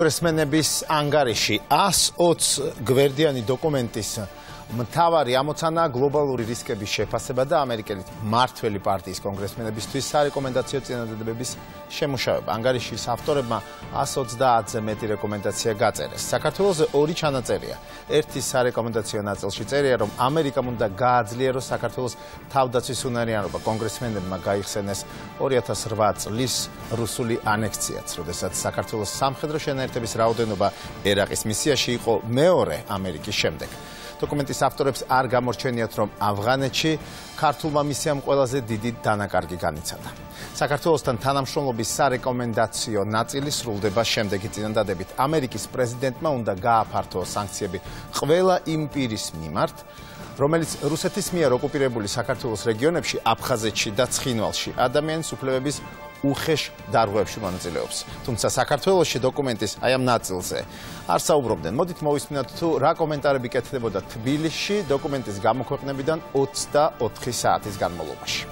კონგრესმენების ანგარიში 120 გვერდიანი დოკუმენტის მთავარი ამოცანა გლობალური რისკების შეფასება და ამერიკელი მმართველი პარტიის კონგრესმენებისთვის სარეკომენდაციო წინადადებების შემუშავება. ანგარიშის ავტორებმა 130-ზე მეტი რეკომენდაცია გაწერეს. საქართველოს ორი ჩანაწერია. ერთი სარეკომენდაციო ნაწილში წერია, რომ ამერიკამ უნდა გააძლიეროს საქართველოს თავდაცვის უნარიანობა. კონგრესმენებმა გაიხსენეს 2008 წლის რუსული ანექსიაც, როდესაც საქართველოს სამხედრო შენაერთების რაოდენობა ერაყის მისიაში იყო მეორე ამერიკის შემდეგ. დოკუმენტის ავტორებს არ გამორჩენიათ, რომ ავღანეთში ქართულმა მისიამ ყველაზე დიდი დანაკარგი განიცადა. საქართველოსთან თანამშრომლობის სარეკომენდაციო ნაწილი სრულდება შემდეგი წინადადებით. ამერიკის პრეზიდენტმა უნდა გააფართოოს სანქციები ყველა იმ პირის მიმართ, რომელიც რუსეთის მიერ ოკუპირებული საქართველოს რეგიონებში, აფხაზეთში და ცხინვალში ადამიანის უფლებების უხეშ დარღვევებში მონაწილეობს. თუმცა საქართველოში დოკუმენტის აი ამ ნაწილზე არ საუბრობდნენ. მოდით მოვისმინოთ თუ რა კომენტარები კეთდებოდა თბილისში დოკუმენტის გამოქვეყნებიდან 24 საათის განმავლობაში.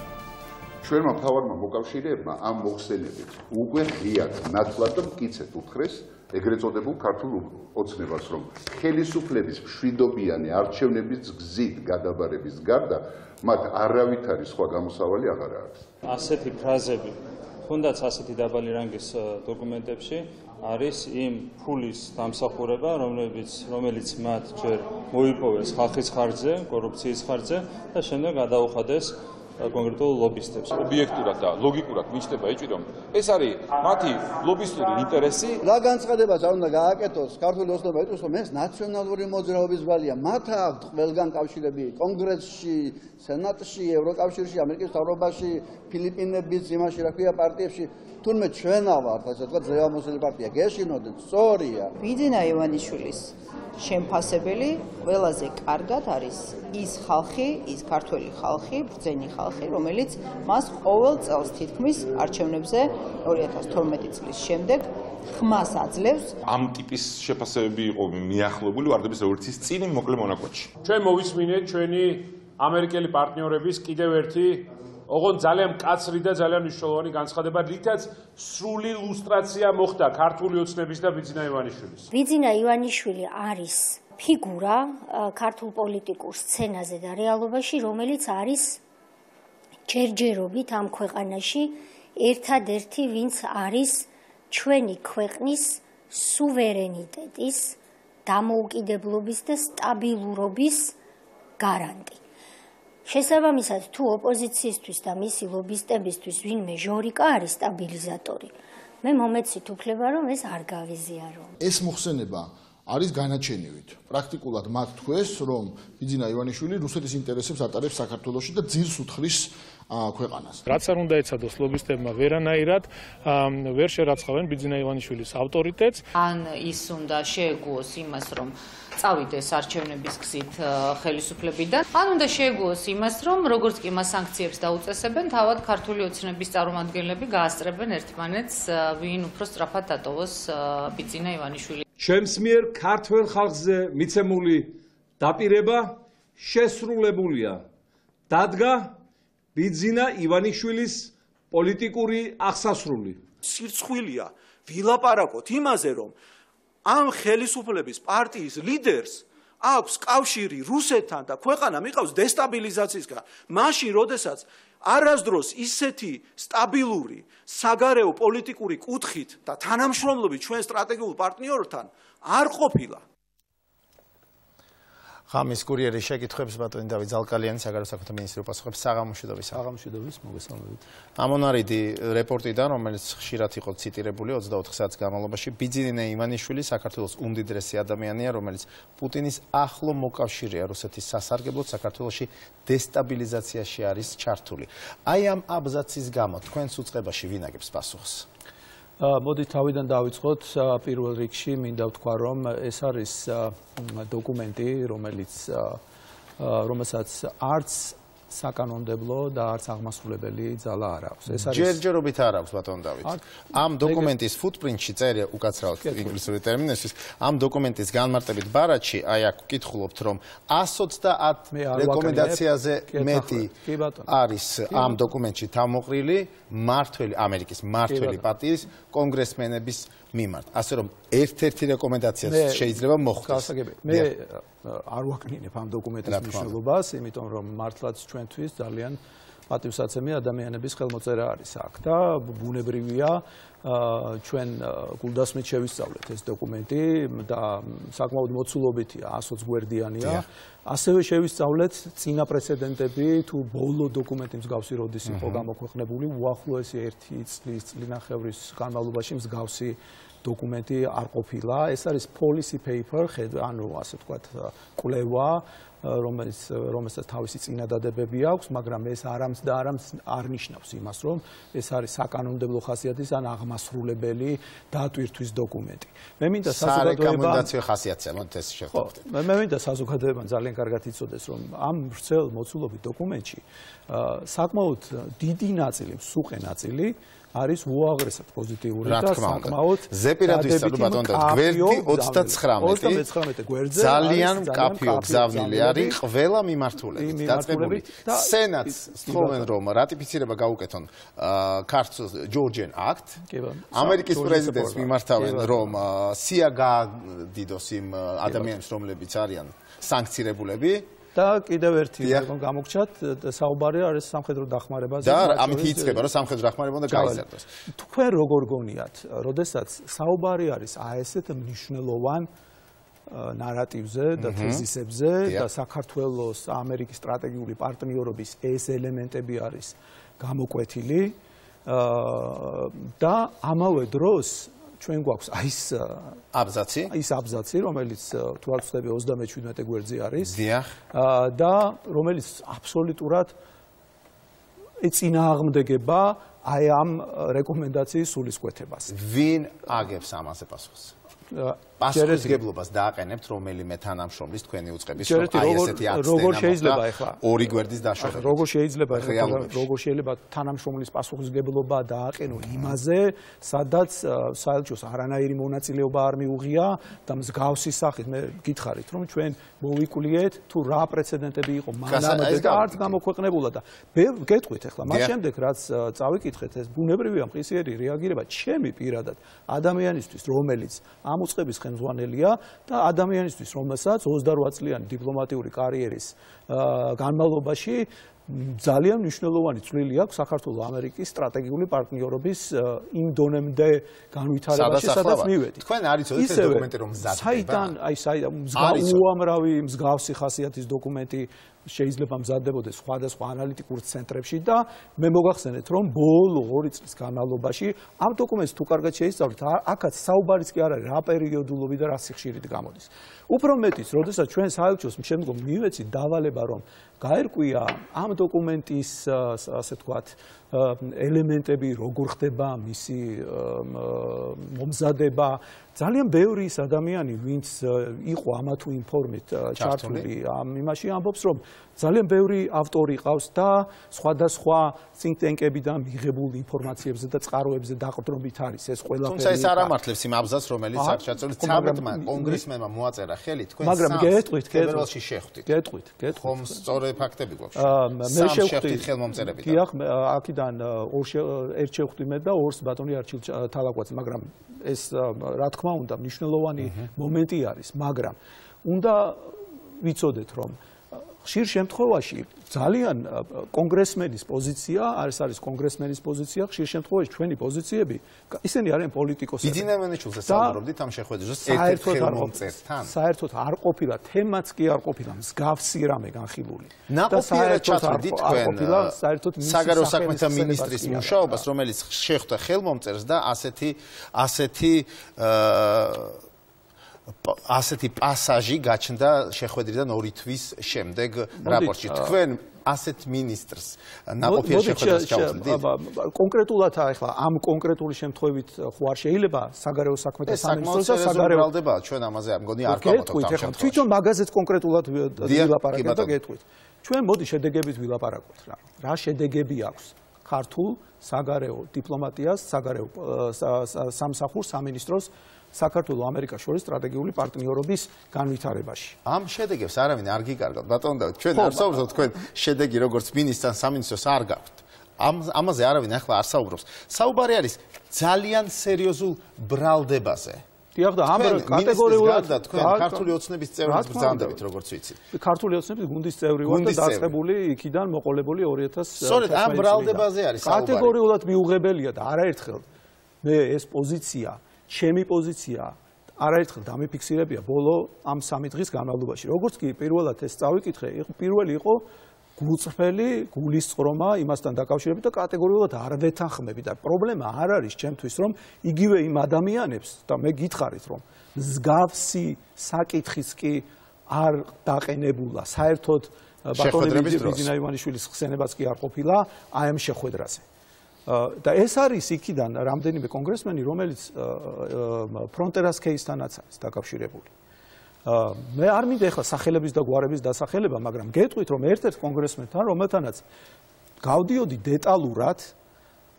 ჩვენმა მთავარმა მოკავშირეებმა ამ მოხსენებით უკვე ღიად ნათლად და მკიცედ უთხრეს ეგრეთ წოდებულ ქართულ ოცნებას, რომ ხელისუფლების მშვიდობიანი არჩევნების გზით გადაბარების გარდა მათ არავითარი სხვა გამოსავალი აღარ აქვს. ასეთი ფრაზები თუნდაც ასეთი დაბალი რანგის დოკუმენტებში არის იმ ფულის დამსახურება, რომელიც მათ ჯერ მოიპოვეს ხალხის ხარჯზე, კორუფციის ხარჯზე და შემდეგ გადაუხადეს კონკრეტულ ლობისტებს. ობიექტურად და ლოგიკურად მიჩნდება ეჭვი, რომ ეს არის მათი ლობისტური ინტერესი. რა განცხადებაც არ უნდა გააკეთოს ქართული ოცნება იტყვის, რომ ეს ნაციონალური მოძრაობის ვალია. მათ აქვთ ყველგან კავშირები კონგრესში, სენატში, ევროკავშირში, ამერიკის მთავრობაში, ფილიპინების იმაში რა ქვია პარტიებში. თუნდაც ჩვენა ვართ, ასე ვთქვათ, ძლევამოსილი პარტია. გეშინოდეთ, სწორია. ბიძინა ივანიშვილის შემფასებელი ყველაზე კარგად არის ის ხალხი, ის ქართველი ხალხი, ბრძენი ხალხი, რომელიც მას ყოველ წელს თითქმის არჩევნებზე 2012 წლის შემდეგ ხმას აძლევს. ამ ტიპის შეფასებები იყო მიახლოებული ვარდების რევოლუციის წინ მოკლე მონაკვეთში. ჩვენ მოვისმინეთ ჩვენი ამერიკელი პარტნიორების კიდევ ერთი ოღონდ ძალიან მკაცრი და ძალიან მნიშვნელოვანი განცხადება, რითაც სრული ლუსტრაცია მოხდა ქართული ოცნების და ბიძინა ივანიშვილის. ბიძინა ივანიშვილი არის ფიგურა ქართულ პოლიტიკურ სცენაზე და რეალობაში, რომელიც არის ჯერჯერობით ამ ქვეყანაში ერთადერთი, ვინც არის ჩვენი ქვეყნის სუვერენიტეტის, დამოუკიდებლობის და სტაბილურობის გარანტი. შესაბამისად, თუ ოპოზიციისთვის და მისი ლობისტებისთვის ვინმე ჟორიკა არის სტაბილიზატორი, მე მომეცით უფლება, რომ ეს არ გავიზიარო. ეს მოხსენება არის განაჩენივით. პრაქტიკულად მათ თქვეს, რომ ბიძინა ივანიშვილი რუსეთის ინტერესებს ატარებს საქართველოში და ძირს უთხრის ქვეყანას. რაც არ უნდა ეცადოს ლობისტებმა ვერანაირად ვერ შერაცხავენ ბიძინა ივანიშვილის ავტორიტეტს. ან ის უნდა შეეგუოს იმას, რომ წავიდეს არჩევნების გზით ხელისუფლებიდან, ან უნდა შეეგუოს იმას, რომ როგორც კი მას სანქციებს დაუწესებენ, თავად ქართული ოცნების წარმომადგენლები გაასწრებენ ერთმანეთს, ვინ უფრო სწრაფად დატოვოს ბიძინა ივანიშვილი. ჩემს მიერ ქართველ ხალხზე მიცემული დაპირება შესრულებულია. დადგა ბიძინა ივანიშვილის პოლიტიკური აღსასრული. სირცხვილია ვილაპარაკოთ იმაზე, რომ ამ ხელისუფლების პარტიის ლიდერს აქვს კავშირი რუსეთთან და ქვეყანა მიყავს დესტაბილიზაციისგან. მაშინ, როდესაც არასდროს ისეთი სტაბილური საგარეო პოლიტიკური კუთხით და თანამშრომლობით ჩვენ სტრატეგიულ პარტნიორთან არ ყოფილა. ღამის კურიერის შეკითხვებს ბატონი დავით ზალკალიანი საგარეო საქმეთა მინისტრი უპასუხებს. საღამომშვიდობის. საღამომშვიდობის, მოგესალმებით. ამონარიდი რეპორტიდან, რომელიც ხშირად იყო ციტირებული 24 საათის განმავლობაში, ბიძინა ივანიშვილი საქართველოს უმდიდრესი ადამიანია, რომელიც პუტინის ახლო მოკავშირეა რუსეთის სასარგებლოდ საქართველოში დესტაბილიზაციაში არის ჩართული. აი ამ აბზაცის გამო თქვენს უწყებაში ვინ აგებს პასუხს? მოდით თავიდან დავიწყოთ. პირველ რიგში მინდა ვთქვა, რომ ეს არის დოკუმენტი, რომელსაც არც საკანონმდებლო და არც აღმასრულებელი ძალა არ აქვს. ეს არის ჯერჯერობით არ აქვს ბატონ დავით. ამ დოკუმენტის footprint-ში წერია უკაცრავად ინგლისური ტერმინისთვის, ამ დოკუმენტის განმარტებით ბარათში, აი აქ ვკითხულობთ, რომ 130 რეკომენდაციაზე მეტი არის ამ დოკუმენტში თავმოყრილი ამერიკის მმართველი პარტიის კონგრესმენების მიმართ. ასე რომ ერთ-ერთი რეკომენდაციაც შეიძლება მოხდეს. მე არ ვაკნინებ ამ დოკუმენტის მნიშვნელობას, იმიტომ რომ მართლაც ჩვენთვის ძალიან პატივსაცემი ადამიანების ხელმოწერა არის აქ და ბუნებრივია ჩვენ გულდასმით შევისწავლეთ ეს დოკუმენტი და საკმაოდ მოცულობითია 120 გვერდიანია. ასევე შევისწავლეთ წინა პრეცედენტები თუ ბოლო დოკუმენტი მსგავსი როდის იყო გამოქვეყნებული უახლოესი 1 წლის წლინახევრის განმავლობაში მსგავსი დოკუმენტი არ ყოფილა. ეს არის policy paper, ანუ ასე ვთქვათ, კვლევა, რომელსაც თავისი წინადადებები აქვს, მაგრამ ეს არ ნიშნავს იმას, რომ ეს არის საკანონმდებლო ხასიათის ან აღმასრულებელი დატვირთვის დოკუმენტი. მე მინდა საკონდიციონალო ხასიათია, მოდით ეს შევხვდეთ. მე მინდა საზოგადოებამ ძალიან კარგად იცოდეს, რომ ამ ვრცელ მოცულობით დოკუმენტში საკმაოდ დიდი ნაწილი, მსუყე ნაწილი არის უაღრესად პოზიტიური და საკმაოდ ზეპირად ვისწავლო ბატონო გვერდი 39 გვერდზე ძალიან მკაფიო გზავნილი არის ყველა მიმართულებით დაწყებული სენატს სწავლენ რომ რატიფიცირება გაუკეთონ ქართულ ჯორჯიან აქტ ამერიკის პრეზიდენტს მიმართავენ რომ სია გაადიდოს იმ ადამიანებს რომლებიც არიან სანქცირებულები და კიდევ ერთი გამოგჩათ საუბარი არის სამხედრო დახმარებაზე და ამით იწყება რომ სამხედრო დახმარება უნდა გაიზარდოს. თქვენ როგორ გონიათ, როდესაც საუბარი არის ასეთ მნიშვნელოვან ნარატივზე და თეზისებზე და საქართველოს ამერიკის სტრატეგიული პარტნიორობის ეს ელემენტები არის გამოკვეთილი და ამავე დროს ჩვენ გვაქვს ის აბზაცი, რომელიც თუ არ ვცდები 37 გვერდზე არის. დიახ. და რომელიც აბსოლუტურად ეწინააღმდეგება აი ამ რეკომენდაციის სულისკვეთებას. ვინ აგებს ამაზე პასუხს? პასუხისგებლობას დააყენებთ რომელიმე თანამშრომლის თქვენი უწყების აი ესეთი აქტი როგორ შეიძლება ახლა ორი გვერდის დაშორება როგორ შეიძლება თანამშრომლის პასუხისგებლობა დააყენო იმაზე სადაც საელჩოს არანაირი მონაწილეობა არ მიუღია და მსგავსი სახით მე გითხარით რომ ჩვენ მოვიკვლიეთ თუ რა პრეცედენტები იყო მანამდე და არც გამოქვეყნებულა და გეტყვით ახლა მას შემდეგ რაც წავიკითხეთ ეს ბუნებრივია მყისიერი რეაგირება ჩემი პირადად ადამიანისთვის რომელიც ამ უწყების ხელმძღვანელია და ადამიანისთვის რომელსაც 28 წლიანი დიპლომატიური კარიერის განმავლობაში ძალიან მნიშვნელოვანი წვლილი აქვს საქართველოს ამერიკის სტრატეგიული პარტნიორობის იმ დონემდე განვითარებაში სადაც მივედით. თქვენ არიცოდეთ ეს დოკუმენტი რომ მზადდება? საიდან უამრავი მსგავსი ხასიათის დოკუმენტი შეიძლება მზადდებოდეს სხვადასხვა ანალიტიკურ ცენტრებში და მე მოგახსენეთ რომ ბოლო 2 წლის განმავლობაში ამ დოკუმენტს თუ კარგად შეისწავლეთ აქაც საუბარიც კი არ არის რა პერიოდულობი და რა სიხშირით გამოდის. უფრო მეტიც, როდესაც ჩვენ საელჩოს შემდგომ მივეცით დავალება რომ გაერკვია ამ დოკუმენტის ასე ვთქვათ ელემენტები როგორ ხდება მისი მომზადება ძალიან ბევრი ის ადამიანი ვინც იყო ამა თუ იმ ფორმით ჩართული ამ იმაში ამბობს რომ ძალიან ბევრი ავტორი ყავს და სხვადასხვა think tank-ებიდან მიღებულ ინფორმაციებზე და წყაროებზე დაყრდნობით არის ეს ყველაფერი. თუმცა ეს არ ამართლებს იმ აბზაცს რომელიც აქ ჩაწოლილი 13-მა კონგრესმენმა მოაწერა ხელი თქვენ მაგრამ გეტყვით ფედერალში შეხვდით. გეტყვით. ხომ სწორი ფაქტები გვაქვს. მე შეხვდით ხელმომწერებით. დიახ, აქიდან ერთ შევხვდი მე და ორს ბატონი არჩილ თალაკვაძე, მაგრამ ეს რა თქმა უნდა მნიშვნელოვანი მომენტი არის, მაგრამ უნდა ვიცოდეთ რომ ხშირ შემთხვევაში ძალიან კონგრესმენის პოზიცია, არის კონგრესმენის პოზიცია, ხშირ შემთხვევაში ჩვენი პოზიციები, ისინი არიან პოლიტიკოსები. ბიძინემენიჩულზე საუბრობდით ამ შეხვედრაზე ერთ-ერთ ხელმომწერთან. საერთოდ არ ყოფილა, თემაც კი არ ყოფილა მსგავსი რამე განხილული. ნაყოფიერად ჩაწვდით თქვენ საგარეო საქმეთა მინისტრის მუშაობას, რომელიც შეხვდა ხელმომწერს და ასეთი პასაჟი გაჩნდა შეხვედრიდან 2 თვის შემდეგ რაპორტში. თქვენ ასეთ მინისტრს ნაყოფიერ შეხვედრას ჩავთვლით? კონკრეტულად ახლა ამ კონკრეტული შემთხვევით ხო არ შეიძლება საგარეო საქმეთა სამინისტროს და საგარეო ჩვენ ამაზე მგონი არ გავაკეთებთ ამ შემთხვევაში. თვითონ მაგაზეც კონკრეტულად ვილაპარაკეთ და გეტყვით. ჩვენ მოდი შედეგებით ვილაპარაკოთ რა. რა შედეგები აქვს ქართულ საგარეო დიპლომატიას, საგარეო სამსახურს, სამინისტროს საქართველოს ამერიკას შორის სტრატეგიული პარტნიორობის განვითარებაში. ამ შედეგებს არავინ არ გიკარგავთ. ბატონო, ჩვენ არ საუბრობთ თქვენ შედეგი როგორც მინისტრთან სამინისტროს არ გაქვთ. ამაზე არავინ ახლა არ საუბრობს. საუბარი არის ძალიან სერიოზულ ბრალდებაზე. დიახ და ამ კატეგორიულად თქვენ ქართული ოცნების წევრებს ბრძანდებით, როგორც ვიცი. ქართული ოცნების გუნდის წევრი ვარ და დაწყებული იქიდან მოყოლებული 2000 სწორედ ამ ბრალდებაზე არის საუბარი. კატეგორიულად მიუღებელია და არაერთხელ მე ეს პოზიცია, ჩემი პოზიცია არაერთხელ დამიფიქსირებია ბოლო ამ 3 დღის განმავლობაში. როგორც კი პირველად ეს წავიკითხე, პირველი იყო გულწრფელი გულისწყრომა იმასთან დაკავშირებით და კატეგორიულად არ ვეთანხმები და პრობლემა არ არის ჩემთვის რომ იგივე იმ ადამიანებს და მე გითხარით რომ მსგავსი საკითხიც კი არ დაყენებულა საერთოდ ბატონი ბიზნა ივანიშვილის ხსენებაც კი არ ყოფილა აი ამ შეხვედრაზე და ეს არის იქიდან რამდენიმე კონგრესმენი რომელიც ფრონტერას кейსთანაც არის დაკავშირებული მე არ მინდა ახლა სახელების და გვარების დასახელება, მაგრამ გეტყვით რომ ერთ-ერთ კონგრესმენთან, რომელთანაც გავდიოდი დეტალურად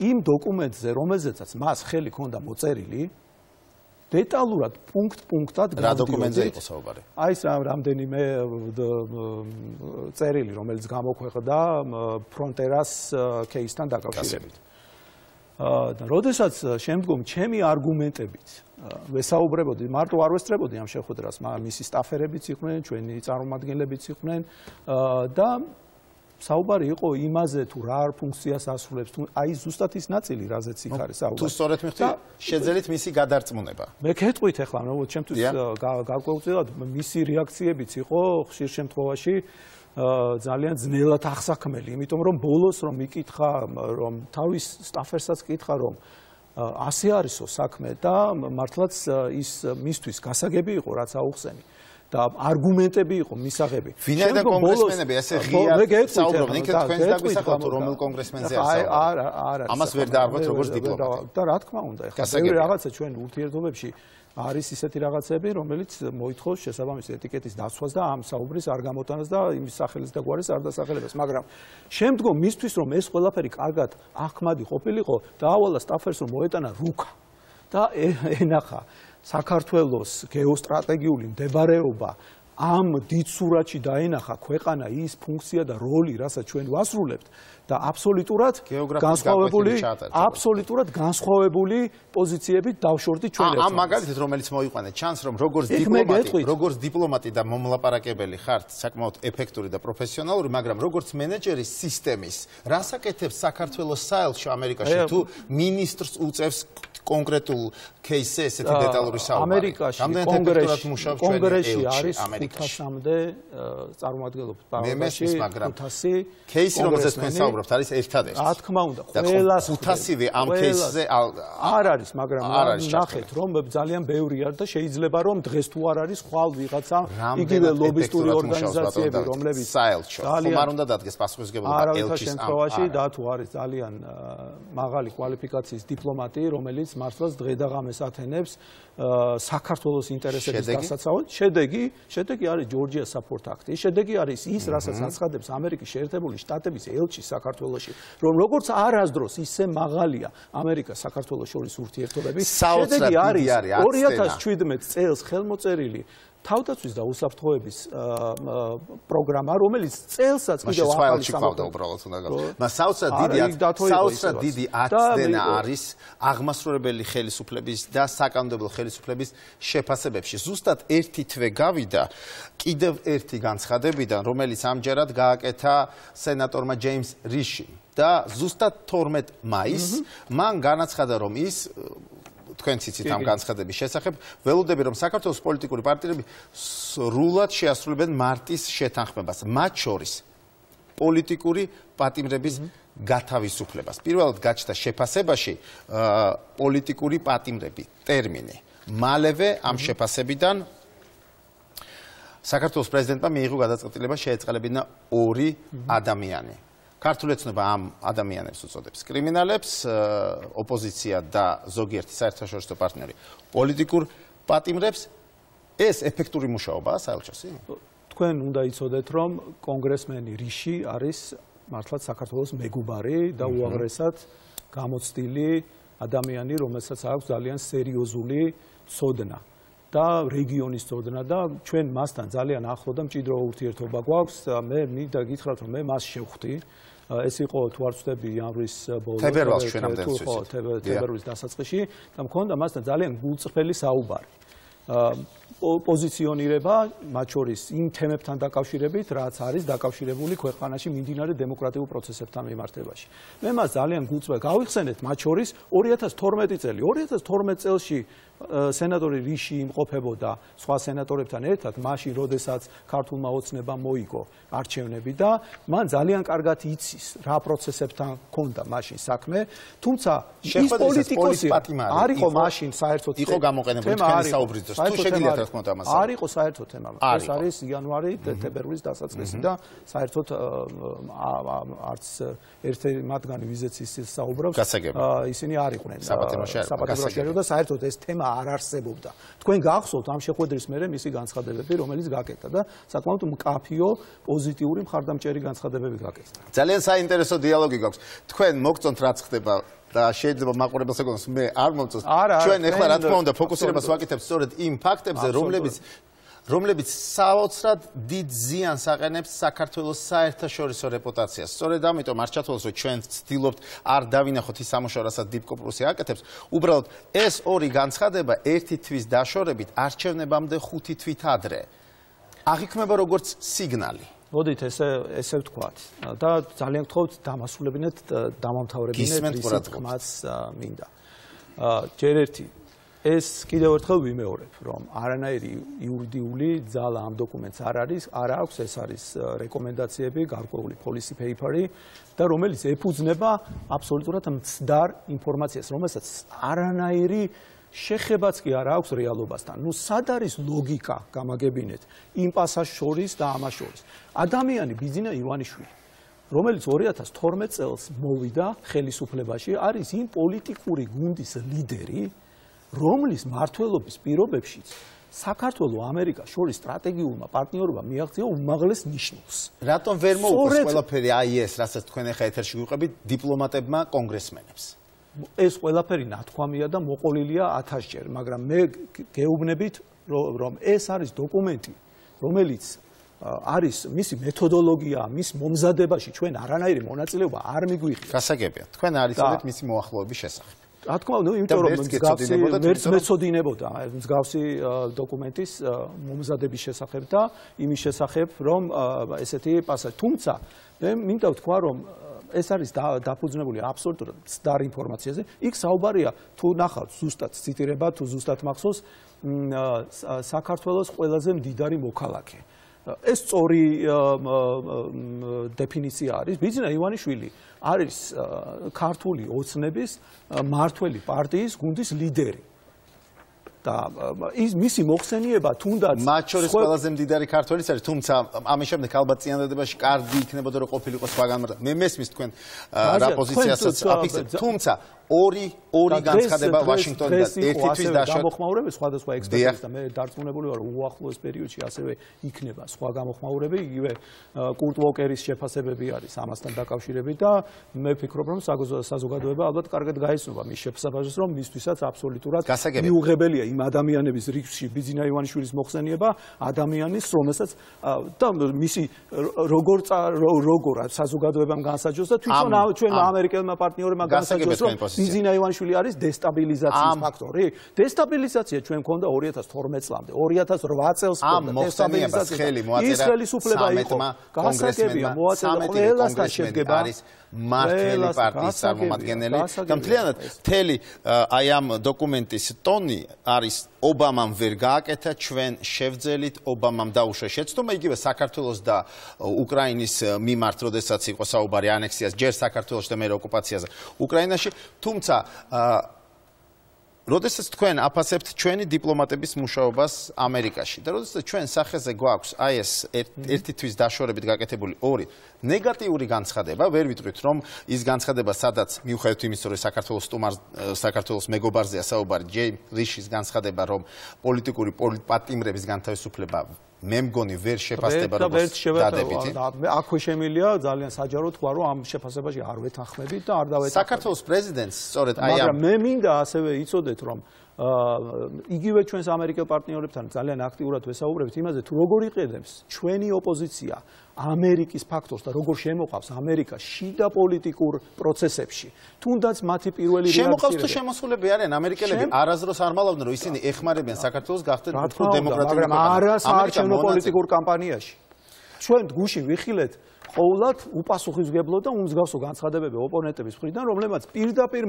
იმ დოკუმენტზე, რომელზეც მას ხელი ჰქონდა მოწერილი, დეტალურად პუნქტ-პუნქტად გავდიოდი. რა დოკუმენტზე იყო საუბარი? აი ეს რამდენიმე წერილი, რომელიც გამოქვეყნდა ფრონტერას кейსთან დაკავშირებით. და როდესაც შემდგომ ჩემი არგუმენტებით ვესაუბრებოდი, მარტო არ ვესწრებოდი ამ შეხვედრას, მისი სტაფერებიც იყვნენ, ჩვენი წარმომადგენლებიც იყვნენ და საუბარი იყო იმაზე თუ რა ფუნქციას ასრულებს, თუ აი ზუსტად ის ნაწილი, რაზეც იქ არის საუბარი. თუ სწორედ მიხდი, შეძელით მისი გადარწმუნება. მე გეტყვით ახლა, რომ ჩემთვის გარკვეულწილად მისი რეაქციებიც იყო ხშირ შემთხვევაში ძალიან ძნელად ახსაქმელი, იმიტომ რომ ბოლოს რომ მიკითხა, რომ თავის სტაფერსაც კითხა, რომ ასე არისო საქმე და მართლაც ის მისთვის გასაგები იყო, რაც აუხსენი და არგუმენტები იყო მისაღები. ვინაიდან კონგრესმენები ასე ღიად საუბრობენ, იქ თქვენს დაგვისახავთ რომელ კონგრესმენზე ასაუბრებთ. ამას ვერ დაარღვეთ როგორც დიპლომატი. და რა თქმა უნდა, ეხლა ბევრი რაღაცა ჩვენ ურთიერთობებში არის ისეთი რაღაცები, რომელიც მოითხოვს შესაბამის ეტიკეტის დაცვას და ამ საუბრის არ გამოტანას და იმის სახელის და გვარის არ დასახელებას, მაგრამ შემდგომ მისთვის რომ ეს ყველაფერი კარგად ახმადი ყოფილიყო, დაავალა სტაფერს რომ მოეტანა რუკა და ენახა საქართველოს გეოსტრატეგიული მდებარეობა ამ დიდ სურათში დაენახა ქვეყანა ის ფუნქცია და როლი, რასაც ჩვენ ვასრულებთ და აბსოლუტურად განსხვავებული პოზიციებით დავშორდი ჩვენ ერთმანეთს. ამ მაგალითად რომელიც მოიყვანეთ, ჩანს რომ როგორც დიპლომატი და მომლაპარაკებელი ხართ, საკმაოდ ეფექტური და პროფესიონალური, მაგრამ როგორც მენეჯერი სისტემის, რას აკეთებს საქართველოს საელჩო ამერიკაში თუ მინისტრს უწევს კონკრეტულ кейსზე ესეთი დეტალური საუბარი. კონგრესში არის 500-მდე წარმომადგენლობა პარლამენტში 500 кейსი რომელზეც თქვენ საუბრობთ არის ერთადერთი. რა თქმა უნდა, ყველას 500-ვე ამ кейსზე არ არის, მაგრამ ნახეთ რომ ძალიან ბევრი არის და შეიძლება რომ დღეს თუ არ არის ხვალ ვიღაცა იგივე ლობისტური ორგანიზაციები რომლებიც საელჩო ხომ არ უნდა დადგეს პასუხისმგებლობა ელჩის შემთხვევაში და თუ არის ძალიან მაღალი კვალიფიკაციის დიპლომატი რომელიც მართლაც დღე და ღამეს ათენებს საქართველოს ინტერესების დასაცავად. შედეგი არის ჯორჯია საპორტ აქტი. შედეგი არის ის, რასაც აცხადებს ამერიკის შეერთებული შტატების ელჩი საქართველოში, რომ როგორც არასდროს ისე მაღალია ამერიკა საქართველოს შორის ურთიერთობები. შედეგი არის 2017 წელს ხელმოწერილი თავდაცვის და უსაფრთხოების პროგრამა, რომელიც წელსაც კიდევ ახალისამდა უბრალოდ უნდა გავიგოთ. მას საოცრად დიდი აცდენა არის აღმასრულებელი ხელისუფლების და საკანონმდებლო ხელისუფლების შეფასებებში. ზუსტად ერთი თვე გავიდა კიდევ ერთი განცხადებიდან, რომელიც ამჯერად გააკეთა სენატორმა ჯეიმს რიშიმ და ზუსტად 12 მაისს მან განაცხადა, რომ ის თქვენც იცით ამ განცხადების შესახებ, ველოდები რომ საქართველოს პოლიტიკური პარტიები სრულად შეასრულებენ მარტის შეთანხმებას, მათ შორის პოლიტიკური პატიმრების გათავისუფლებას. პირველად გაჩნდა შეფასებაში პოლიტიკური პატიმრები ტერმინი. მალევე ამ შეფასებიდან საქართველოს პრეზიდენტმა მიიღო გადაწყვეტილება შეეწყალებინა 2 ადამიანი. ქართული ოცნება ამ ადამიანებს უწოდებს კრიმინალებს, ოპოზიცია და ზოგიერთი საერთაშორისო პარტნიორი პოლიტიკურ პატიმრებს. ეს ეფექტური მუშაობაა საელჩოსი? თქვენ უნდა იცოდეთ, რომ კონგრესმენი რიში არის მართლაც საქართველოს მეგობარი და უაღრესად გამოცდილი ადამიანი, რომელსაც აქვს ძალიან სერიოზული ცოდნა და რეგიონის ცოდნა და ჩვენ მასთან ძალიან ახლო და მჭიდრო ურთიერთობა გვაქვს. მე მინდა გითხრათ, რომ მე მას შევხვდი ეს იყო თუ არ ვცდები იანვრის ბოლოს თებერვალს ჩვენ ამდენს თებერვლის დასაწყისში და მქონდა მასთან ძალიან გულწრფელი საუბარი. პოზიციონირება მათ შორის იმ თემებთან დაკავშირებით, რაც არის დაკავშირებული ქვეყანაში მიმდინარე დემოკრატიულ პროცესებთან მიმართებაში. მე მას ძალიან გულწრფელად გავიხსენეთ მათ შორის 2012 წელი. 2012 წელში სენატორი რიში იმყოფებოდა სხვა სენატორებთან ერთად, მაშინ როდესაც ქართულმა ოცნებამ მოიგო არჩევნები და მან ძალიან კარგად იცის რა პროცესებთან ჰქონდა მაშინ საქმე, თუმცა ის პოლიტიკოსი არ იყო მაშინ საერთოდ იყო გამოყენებული თქვენი საუბრის დროს. თუ შეგიძლიათ რა თქმა უნდა ამას. არ იყო საერთოდ თემა. ეს არის იანვარი თებერვლის დასაწყისი და საერთოდ არც ერთი მათგანი ვიზეც ის საუბრობს. ისინი არ იყვნენ საპატიმროში და საერთოდ ეს თემა არ არსებობდა. თქვენ გახსოვთ ამ შეხვედრის მერე მისი განცხადებები, რომელიც გაკეთდა და საკმაოდ მკაფიო, პოზიტიური, მხარდამჭერი განცხადებები გაკეთდა. ძალიან საინტერესო დიალოგი გვაქვს. თქვენ მოგწონთ რაც ხდება და შეიძლება მაყურებელს ეკონოს მე არ მომწონს. ჩვენ ახლა რა თქმა უნდა ფოკუსირებას ვაკეთებთ სწორედ იმ ფაქტებზე, რომლებიც საოცრად დიდ ზიანს აყენებს საქართველოს საერთაშორისო რეპუტაციას. სწორედ ამიტომ არ ჩათვალოს, რომ ჩვენ ვცდილობთ არ დავინახოთ ის სამუშაო, რასაც დიპკო პლუსი აკეთებს. უბრალოდ ეს ორი განცხადება ერთი თვის დაშორებით არჩევნებამდე 5 თვით ადრე აღიქმება როგორც სიგნალი. მოდით ესე ვთქვათ და ძალიან გთხოვთ დამასრულებინეთ დამამთავრებინეთ ისეთ ხმას მინდა. ჯერ ერთი ეს კიდევ ერთხელ ვიმეორებ, რომ არანაირი იურიდიული ძალა ამ დოკუმენტს არ აქვს, ეს არის რეკომენდაციები, გარკვეული policy paper-ი და რომელიც ეფუძნება აბსოლუტურად მცდარ ინფორმაციას, რომელსაც არანაირი შეხებაც კი არ აქვს რეალობასთან. ნუ სად არის ლოგიკა გამაგებინეთ იმ პასაჟს შორის და ამას შორის. ადამიანი ბიძინა ივანიშვილი, რომელიც 2012 წელს მოვიდა ხელისუფლებაში, არის იმ პოლიტიკური გუნდის ლიდერი, რომლის მმართველობის პირობებშიც საქართველოს ამერიკას შორის სტრატეგიულმა პარტნიორობამ მიაღწია უმაღლეს ნიშნულს. რატომ ვერ მოუწევს ყველაფერი აი ეს, რასაც თქვენ ახლა ეთერში გვიყვებით დიპლომატებმა კონგრესმენებს? ეს ყველაფერი ნათქვამია და მოყოლილია 1000-ჯერ, მაგრამ მე გეუბნებით, რომ ეს არის დოკუმენტი, რომელიც არის მისი მეთოდოლოგია, მის მომზადებაში ჩვენ არანაირი მონაწილეობა არ მიგვიღია. გასაგებია. თქვენ არ იცოდეთ მისი მოახლოების შესახებ. რა თქმა უნდა, იმიტომ რომ ვერც მეცოდინებოდა მსგავსი დოკუმენტის მომზადების შესახებ და იმის შესახებ, რომ ესეთი პასაჟი. თუმცა მე მინდა ვთქვა, რომ ეს არის დაფუძნებული აბსოლუტურად მცდარ ინფორმაციაზე. იქ საუბარია თუ ნახავთ ზუსტად ციტირება, თუ ზუსტად მახსოვს საქართველოს ყველაზე მდიდარი მოქალაქე. ეს სწორი დეფინიცია არის. ბიძინა ივანიშვილი არის ქართული ოცნების მმართველი პარტიის გუნდის ლიდერი. და ის მისი მოხსენება თუნდაც მათ შორის ყველაზე მდიდარი ქართველიც არის, თუმცა ამის შემდეგ ალბათ წინადადებაში კარგი იქნებოდა რომ ყოფილიყო სხვაგან. მე მესმის თქვენ რა პოზიციასაც აფიქსებთ, თუმცა ორი განცხადება ვაშინგტონიდან ერთი თვის დაშორებით გამოხმაურები სხვადასხვა ექსპერტებს და მე დარწმუნებული ვარ უახლოეს პერიოდში ასევე იქნება სხვა გამოხმაურები, იგივე კურტ ვოკერის შეფასებები არის ამასთან დაკავშირებით და მე ვფიქრობ რომ საზოგადოება ალბათ კარგად გაიცნობა მის შეფასებას, რომ მისთვისაც აბსოლუტურად მიუღებელია იმ ადამიანების რიგში ბიძინა ივანიშვილის მოხსენება, ადამიანის რომელსაც და მისი როგორ საზოგადოებამ განსაჯოს და თვითონ ჩვენ ამერიკელმა პარტნიორებმა განსაჯოს რომ ბიძინა ივანიშვილი არის დესტაბილიზაციის ფაქტორი. დესტაბილიზაცია ჩვენ მქონდა 2012 წლამდე, 2008 წელს მქონდა დესტაბილიზაცია. ის ხელისუფლება იყო გასაგებია, მოაწედა ყველასთან შედგება არის მმართველი პარტიის წარმომადგენელი და მთლიანად მთელი აი ამ დოკუმენტის ტონი არის ობამამ ვერ გააკეთა, ჩვენ შევძელით, ობამამ დაუშვა შეცდომა, იგივე საქართველოს და უკრაინის მიმართ, როდესაც იყო საუბარი ანექსიას, ჯერ საქართველოში და მერე ოკუპაციაზე უკრაინაში, თუმცა როდესაც თქვენ აფასებთ ჩვენი დიპლომატების მუშაობას ამერიკაში და როდესაც ჩვენ სახეზე გვაქვს აი ეს ერთი თვის დაშორებით გაკეთებული ორი ნეგატიური განცხადება, ვერ ვიტყვით რომ ის განცხადება სადაც მიუხედავად იმის რომ საქართველოს მეგობარზეა საუბარი, ჯეიმ რიშის განცხადება რომ პოლიტიკური პატიმრების განთავისუფლება მე მგონი ვერ შეფასდება როგორც დადებითი. აქვე შემილია ძალიან საჯარო თქვა რომ ამ შეფასებაში არ ვეთანხმებით და არ დავეთანხმებით. საქართველოს პრეზიდენტს სწორედ აი ამ მაგრამ მე მინდა ასევე იცოდეთ რომ იგივე ჩვენს ამერიკელ პარტნიორებთან ძალიან აქტიურად ვესაუბრებთ იმაზე, თუ როგორ იყედებს ჩვენი ოპოზიცია ამერიკის ფაქტორს და როგორ შემოყავს ამერიკა შიდა პოლიტიკურ პროცესებში. თუნდაც მათი პირველი რეაქცია შემოყავს თუ შემოსულები არიან ამერიკელები არასდროს არ მალავდნენ რომ ისინი ეხმარებიან საქართველოს გახდნენ უფრო დემოკრატიული მაგრამ არა საარჩევნო პოლიტიკურ კამპანიაში. ჩვენ გუშინ ვიხილეთ ყოველად უპასუხისმგებლო და უმსგავსო განცხადებები ოპონენტების მხრიდან, რომლებმაც პირდაპირ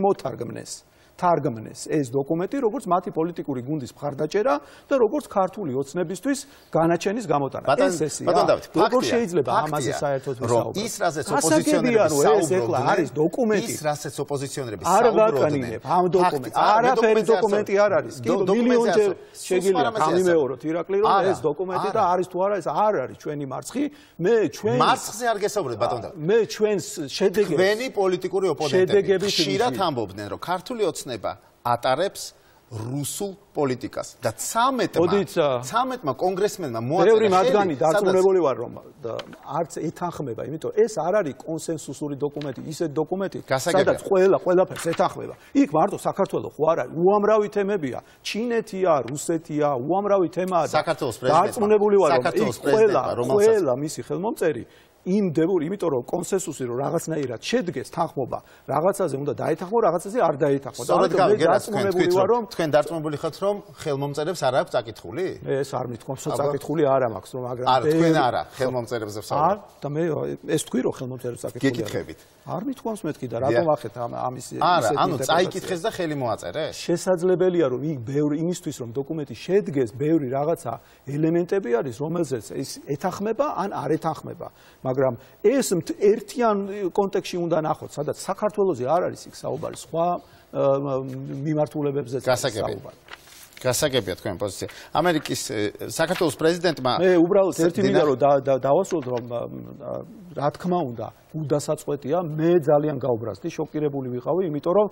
თარგმნეს ეს დოკუმენტი, როგორც მათი პოლიტიკური გუნდის მხარდაჭერა და როგორც ქართული ოცნებისთვის განაჩენის გამოტანა. ეს ესეა. როგორ შეიძლება ამაზე საერთოდ ვისაუბროთ? ის რასაც ოპოზიციონერები საუბრობენ, არის დოკუმენტი. ის რასაც ოპოზიციონერები არ ვაკანინებ ამ დოკუმენტს. არაფერი დოკუმენტი არ არის. კი მილიონჯერ შეგიძლია გამიმეოროთ ირაკლი, რომ ეს დოკუმენტი და არის თუ არა ეს არ არის ჩვენი მარცხი. მე ჩვენ მარცხზე არ გესაუბრეთ ბატონო. მე ჩვენს შედეგებს ჩვენი პოლიტიკური ოპონენტები ხშირად ამბობდნენ, რომ ქართული ოცნება ატარებს რუსულ პოლიტიკას და 13-მა კონგრესმენმა მოაწერა ბევრი მათგანი დარწმუნებული ვარ რომ არც ეთანხმება, იმიტომ ეს არ არის კონსენსუსური დოკუმენტი, ისეთი დოკუმენტი, სადაც ყველაფერს ეთანხმება. იქ მარტო საქართველოს ხო არ არის, უამრავი თემებია, ჩინეთია, რუსეთია, უამრავი თემაა და დარწმუნებული ვარ რომ ყველა მისი ხელმომწერი იმიტომ რომ კონსენსუსი რომ რაღაცნაირად შედგეს თანხმობა რაღაცაზე უნდა დაეთანხმო, რაღაცაზე არ დაეთანხმო. სწორედ დარწმუნებული ვარ რომ თქვენ დარწმუნებული ხართ რომ ხელმომწერებს არ აქვს წაკითხული? ეს არ მithქვამს რომ წაკითხული არ მაქვს, რომ მაგრამ არ თქვენ არა ხელმომწერებზე ვსაუბრობ. და მე ეს თქვი რომ ხელმომწერებს წაკითხული. გეკითხებით. არ მithქვამს მეთქი და რატომ ახეთ ამის არა, ანუ წაიკითხეს და ხელი მოაწერეს? შესაძლებელია რომ იქ ბევრი იმისთვის რომ დოკუმენტი შედგეს, ბევრი რაღაცა ელემენტები არის, რომელზეც ეს ეთანხმება ან არ ეთანხმება. მაგრამ ეს ერთიან კონტექსტში უნდა ნახოთ, სადაც საქართველოზე არ არის იქ საუბარი, სხვა მიმართულებებზე საუბარი. გასაგებია თქვენი პოზიცია. ამერიკის საქართველოს პრეზიდენტმა მე უბრალოდ ერთი მინდა რომ დავასრულოთ რომ რა თქმა უნდა უდასაწყვეტია, მე ძალიან გაუბრაზდი, შოკირებული ვიყავი, იმიტომ რომ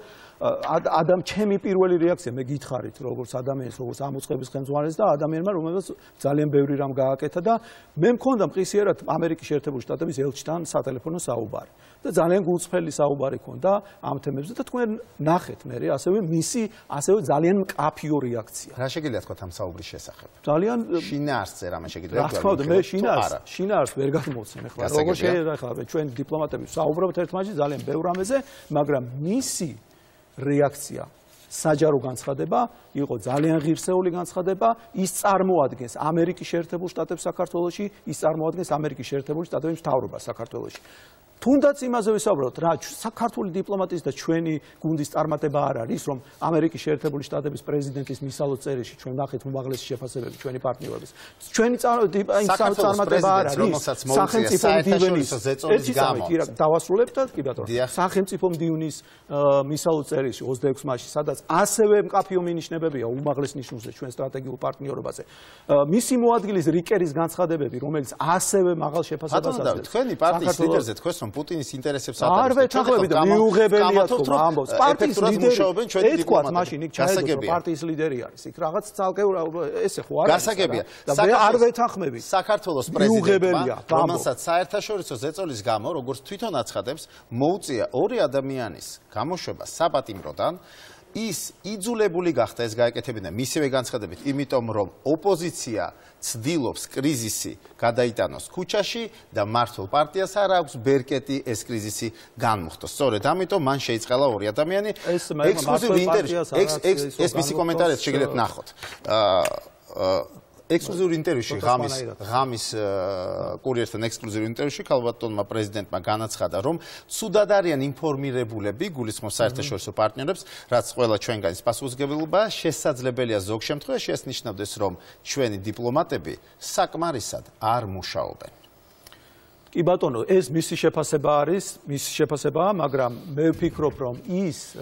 ჩემი პირველი რეაქცია, მე გითხარით, როგორც ადამიანს, როგორც ამოწყების ხელმძღვანელს და ადამიანმა, რომელსაც ძალიან ბევრი რამ გააკეთა და მე მქონდა მყისიერად ამერიკის შეერთებული შტატების ელჩთან სატელეფონო საუბარი. და ძალიან გულწრფელი საუბარი ქონდა ამ თემებზე და თქვენ ნახეთ მე ასევე ძალიან მკაფიო რეაქცია. რა შეგიძლიათ თქვა ამ საუბრის შესახებ? ძალიან შინაარსზე რამე შეგიძლიათ თქვა? რა თქმა უნდა, მე შინაარს ვერ გამოვცემ ახლა. როგორ შეიძლება ახლა ჩვენ დიპლომატები საუბრობთ ერთმანეთში ძალიან ბევრ რამეზე, მაგრამ მისი რეაქცია საჯარო განცხადება იყო ძალიან ღირსეული განცხადება, ის წარმოადგენს ამერიკის შეერთებულ შტატებს საქართველოში, ის წარმოადგენს ამერიკის შეერთებული შტატების მთავრობას საქართველოში. თუნდაც იმაზე ვისაუბროთ, რა საქართველოს დიპლომატიის და ჩვენი გუნდის წარმატება არ არის, რომ ამერიკის შეერთებული შტატების პრეზიდენტის მისალო წერილში ჩვენ ნახეთ უმაღლესი შეფასებები ჩვენი პარტნიორების. ჩვენი წარმატება არ არის, სახელმწიფო მდივნის ზეწოლის გამო. დავასრულებთ და კი ბატონო. სახელმწიფო მდივნის მისალო წერილში 26 მაისში, სადაც ასევე მკაფიო მინიშნებებია უმაღლეს ნიშნულზე ჩვენ სტრატეგიულ პარტნიორობაზე. მისი მოადგილის რიკერის განცხადებები, რომელიც ასევე მაღალ შეფასებას აძლევს. თქვენი პარტიის ლიდერზე თქვენ პუტინის ინტერესებს ატარებს. არ ვეთანხმები და მიუღებელია თუ ამბობს. პარტიის ლიდერი ეთქვათ მაშინ იქ ჩაედოს რომ პარტიის ლიდერი არის. იქ რაღაც ცალკეულ ესე ხო არის. გასაგებია. და მე არ ვეთანხმები. საქართველოს პრეზიდენტმა, რომელსაც საერთაშორისო ზეწოლის გამო, როგორც თვითონ აცხადებს, მოუწია ორი ადამიანის გამოშვება საპატიმროდან. ის იძულებული გახდა ეს გაეკეთებინა მისივე განცხადებით, იმიტომ რომ ოპოზიცია ცდილობს კრიზისი გადაიტანოს ქუჩაში და მართლ პარტიას არ აქვს ბერკეტი ეს კრიზისი განმუხტოს. სწორედ ამიტომ მან შეიწყალა ორი ადამიანი ექსკლუზიური ინტერვიუ. ეს მისი კომენტარიც შეგიძლიათ ნახოთ. ექსკლუზიური ინტერვიუში ღამის კურიერთან ექსკლუზიური ინტერვიუში ქალბატონმა პრეზიდენტმა განაცხადა, რომ ცუდად არიან ინფორმირებულები გულისხმობს საერთაშორისო პარტნიორებს, რაც ყველა ჩვენგანის პასუხისმგებლობაა. შესაძლებელია ზოგ შემთხვევაში ეს ნიშნავდეს, რომ ჩვენი დიპლომატები საკმარისად არ მუშაობენ. კი ბატონო, ეს მისი შეფასება არის, მისი შეფასებაა, მაგრამ მე ვფიქრობ, რომ ის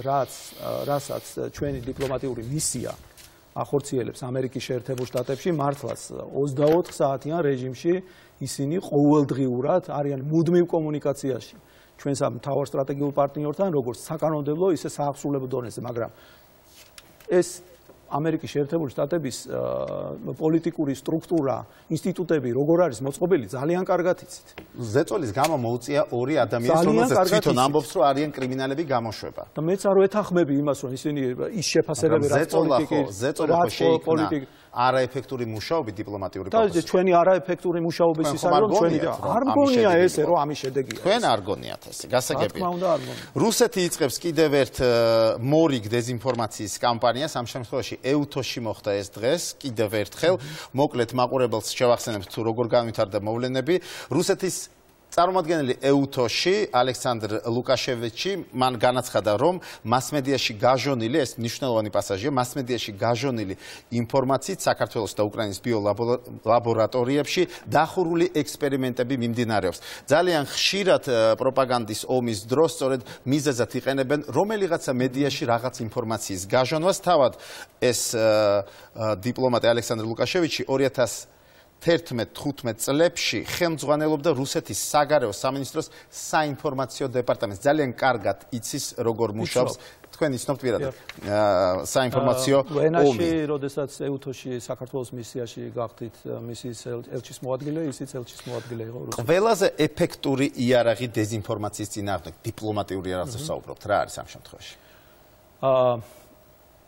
რასაც ჩვენი დიპლომატიური მისია ახორციელებს ამერიკის შეერთებულ შტატებში, მართლაც 24 საათიან რეჟიმში ისინი ყოველდღიურად არიან მუდმივ კომუნიკაციაში ჩვენს მთავარ სტრატეგიულ პარტნიორთან, როგორც საკანონმდებლო, ისე საახსულებო დონეზე, მაგრამ ეს ამერიკის შეერთებული შტატების პოლიტიკური სტრუქტურა, ინსტიტუტები როგორ არის მოწყობილი, ძალიან კარგად იცით. ზეწოლის გამო მოუწია ორი ადამიანს, რომელზეც თვითონ ამბობს, რომ არიან კრიმინალები გამოშვება. და მეც არ ვეთანხმები იმას, რომ ისინი ის შეფასებები რაც პოლიტიკი არაეფექტური მუშაობი დიპლომატიური პროცესი. და ჩვენი არაეფექტური მუშაობის ის არის, რომ ჩვენი არ გონია ესე, რომ ამის შედეგია. თქვენ არ გონიათ ესე, გასაგებია. რუსეთი იწყებს კიდევ ერთ მორიგ დეზინფორმაციის კამპანიას, ამ შემთხვევაში ეუთოში მოხდა ეს დღეს, კიდევ ერთხელ, მოკლედ მაყურებელს შევახსენებთ თუ როგორ განვითარდა მოვლენები. რუსეთის წარმომადგენელი ეუთოში ალექსანდრ ლუკაშევიჩი მან განაცხადა, რომ მასმედიაში გაჟონილი, ეს მნიშვნელოვანი პასაჟია, მასმედიაში გაჟონილი ინფორმაციით საქართველოს და უკრაინის ბიოლაბორატორიებში დახურული ექსპერიმენტები მიმდინარეობს. ძალიან ხშირად პროპაგანდის ომის დროს სწორედ მიზეზად იყენებენ რომელიღაცა მედიაში რაღაც ინფორმაციის გაჟონვას. თავად ეს დიპლომატი ალექსანდრ ლუკაშევიჩი 2011-15 წლებში ხელმძღვანელობდა რუსეთის საგარეო სამინისტროს საინფორმაციო დეპარტამენტს. ძალიან კარგად იცის როგორ მუშაობს. თქვენ იცნობთ პირადად საინფორმაციო ომი. როდესაც ეუთოში საქართველოს მისიაში გახდით მისიის ელჩის მოადგილე, ისიც ელჩის მოადგილე იყო რუსეთში. ყველაზე ეფექტური იარაღი დეზინფორმაციის წინააღმდეგ დიპლომატიური იარაღზე ვსაუბრობთ. რა არის ამ შემთხვევაში?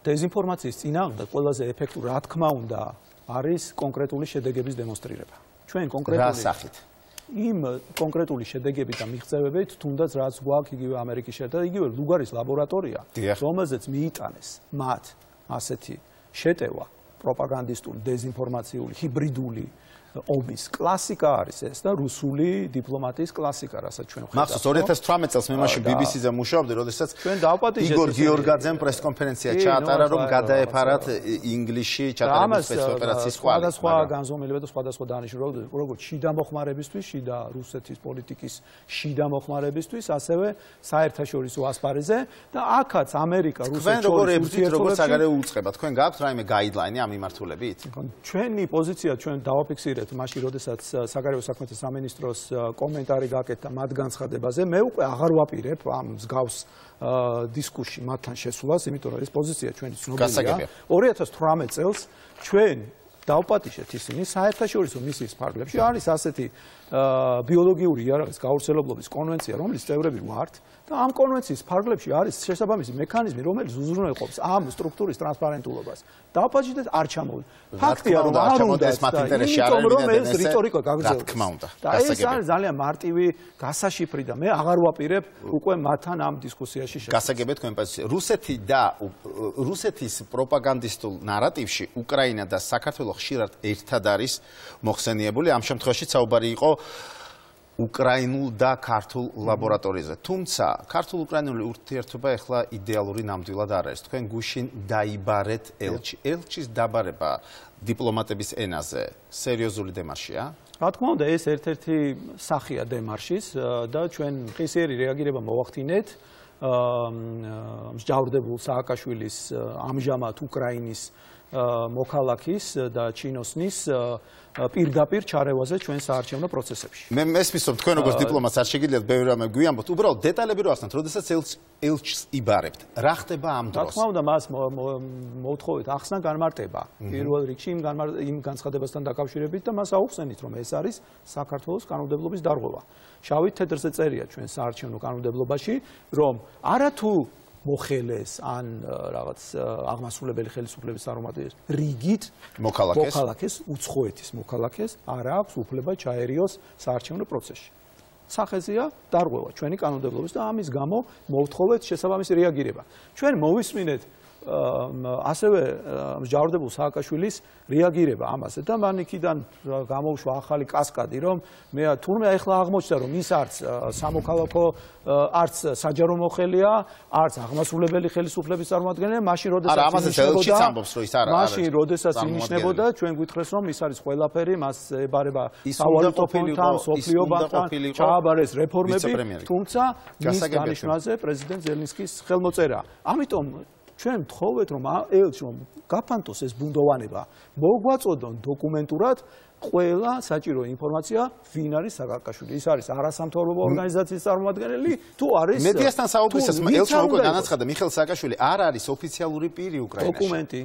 დეზინფორმაციის წინააღმდეგ ყველაზე ეფექტური, რა თქმა უნდა, არის კონკრეტული შედეგების დემონსტრირება. ჩვენ კონკრეტული რა სახით? იმ კონკრეტული შედეგებით და მიღწევებით, თუნდაც რაც გვაქვს იგივე ამერიკის შეერთებულ, იგივე ლუგარის ლაბორატორია, რომელზეც მიიტანეს მათ ასეთი შეტევა პროპაგანდისტული, დეზინფორმაციული, ჰიბრიდული ომის კლასიკა არის ეს და რუსული დიპლომატიის კლასიკა, რასაც ჩვენ ხედავთ. მახსოვს 2018 წელს მე მაშინ BBC-ზე მუშაობდი, როდესაც იგორ გიორგაძემ პრესკონფერენცია ჩაატარა, რომ გადაეფარათ ინგლისში ჩატარებული სპეცოპერაციის კვალი. სხვადასხვა განზომილება და სხვადასხვა დანიშნულება, როგორც შიდა მოხმარებისთვის, შიდა რუსეთის პოლიტიკის შიდა მოხმარებისთვის, ასევე საერთაშორისო ასპარეზზე და აქაც ამერიკა რუსეთს როგორ საგარეო უწყება. თქვენ გაქვთ რაიმე გაიდლაინი ამ მიმართულებით? ჩვენი პოზიცია ჩვენ დავაფიქსირეთ მაშინ, როდესაც საგარეო საქმეთა სამინისტროს კომენტარი გაკეთდა მათ განცხადებაზე, მე უკვე აღარ ვაპირებ ამ მსგავს დისკუსში მათთან შესულას, იმიტომ რომ ეს პოზიცია ჩვენი ცნობილია. 2018 წელს ჩვენ დავპატიშეთ ისინი საერთაშორისო მისიის ფარგლებში. არის ასეთი ბიოლოგიური იარაღის გავრცელებლობის კონვენცია, რომლის წევრები ვართ და ამ კონვენციის ფარგლებში არის შესაბამისი მექანიზმი, რომელიც უზრუნველყოფს ამ სტრუქტურის ტრანსპარენტულობას. დავპატიშეთ არ ჩამოვიდა. ფაქტია, რომ არ უნდა ეს მათ ინტერესში არ არის, ეს რიტორიკა გაგრძელდება. რა თქმა უნდა. და ეს არის ძალიან მარტივი გასაშიფრი და მე აღარ ვაპირებ უკვე მათთან ამ დისკუსიაში შესვლა. გასაგებია თქვენ პოზიცია. რუსეთი და რუსეთის პროპაგანდისტულ ნარატივში უკრაინა და საქართველო ხშირად ერთად არის მოხსენიებული. ამ შემთხვევაში საუბარი იყო უკრაინულ და ქართულ ლაბორატორიაზე. თუმცა ქართულ-უკრაინული ურთიერთობა ეხლა იდეალური ნამდვილად არ არის. თქვენ გუშინ დაიბარეთ ელჩი. ელჩის დაბარება დიპლომატების ენაზე სერიოზული დემარშია? რა თქმა უნდა, ეს ერთ-ერთი სახია დემარშის და ჩვენ ღირსიერი რეაგირება მოვახდინეთ მსჯავრდებულ სააკაშვილის ამჟამად უკრაინის მოქალაქის და ჩინოსნის პირდაპირ ჩარევაზე ჩვენ საარჩევნო პროცესებში. მე მესმისობ თქვენ როგორც დიპლომატს არ შეგიძლიათ ბევრი რამე გვიამბოთ, უბრალოდ დეტალები რო ახსნათ, როდესაც ელჩს იბარებთ. რა ხდება ამ დროს? რა თქმა უნდა, მას მოვთხოვეთ ახსნა განმარტება. პირველ რიგში იმ განცხადებასთან დაკავშირებით და მას აუხსენით, რომ ეს არის საქართველოს კანონმდებლობის დარღვევა. შავით თეთრზე წერია ჩვენ საარჩევნო კანონმდებლობაში, რომ არათუ მოხელეს ან რაღაც აღმასრულებელი ხელისუფლების წარმომადგენლებს რიგით მოქალაქეს უცხოეთის მოქალაქეს არ აქვს უფლება ჩაერიოს საარჩევნო პროცესში. სახეზეა დარღვევა ჩვენი კანონმდებლობის და ამის გამო მოვთხოვეთ შესაბამისი რეაგირება. ჩვენ მოვისმინეთ ასევე მსჯავრდებულ სააკაშვილის რეაგირება ამაზე და მან იქიდან გამოუშვა ახალი კასკადი, რომ მე თურმე ახლა აღმოჩნდა, რომ ის არც სამოქალაქო, არც საჯარო მოხელეა, არც აღმასრულებელი ხელისუფლების წარმომადგენელია, მაშინ როდესაც ინიშნებოდა, ჩვენ გვითხრეს, რომ ის არის ყველაფერი, მას ებარება სავალუტო ფონდთან, სოფლიო ბანკთან, ჩააბარეს რეფორმები, თუმცა მის დანიშვნაზე პრეზიდენტ ზელენსკის ხელმოწერა. ამიტომ ჩვენ ვთხოვეთ, რომ ელჩს რომ გაფანტოს ეს ბუნდოვანება, მოგვაწოდონ დოკუმენტურად ყველა საჭირო ინფორმაცია, ვინ არის სააკაშვილი. ის არის არასამთავრობო ორგანიზაციის წარმომადგენელი, თუ არის მედიასთან საუბრისას ელჩმა უკვე განაცხადა, მიხეილ სააკაშვილი არ არის ოფიციალური პირი უკრაინაში. დოკუმენტი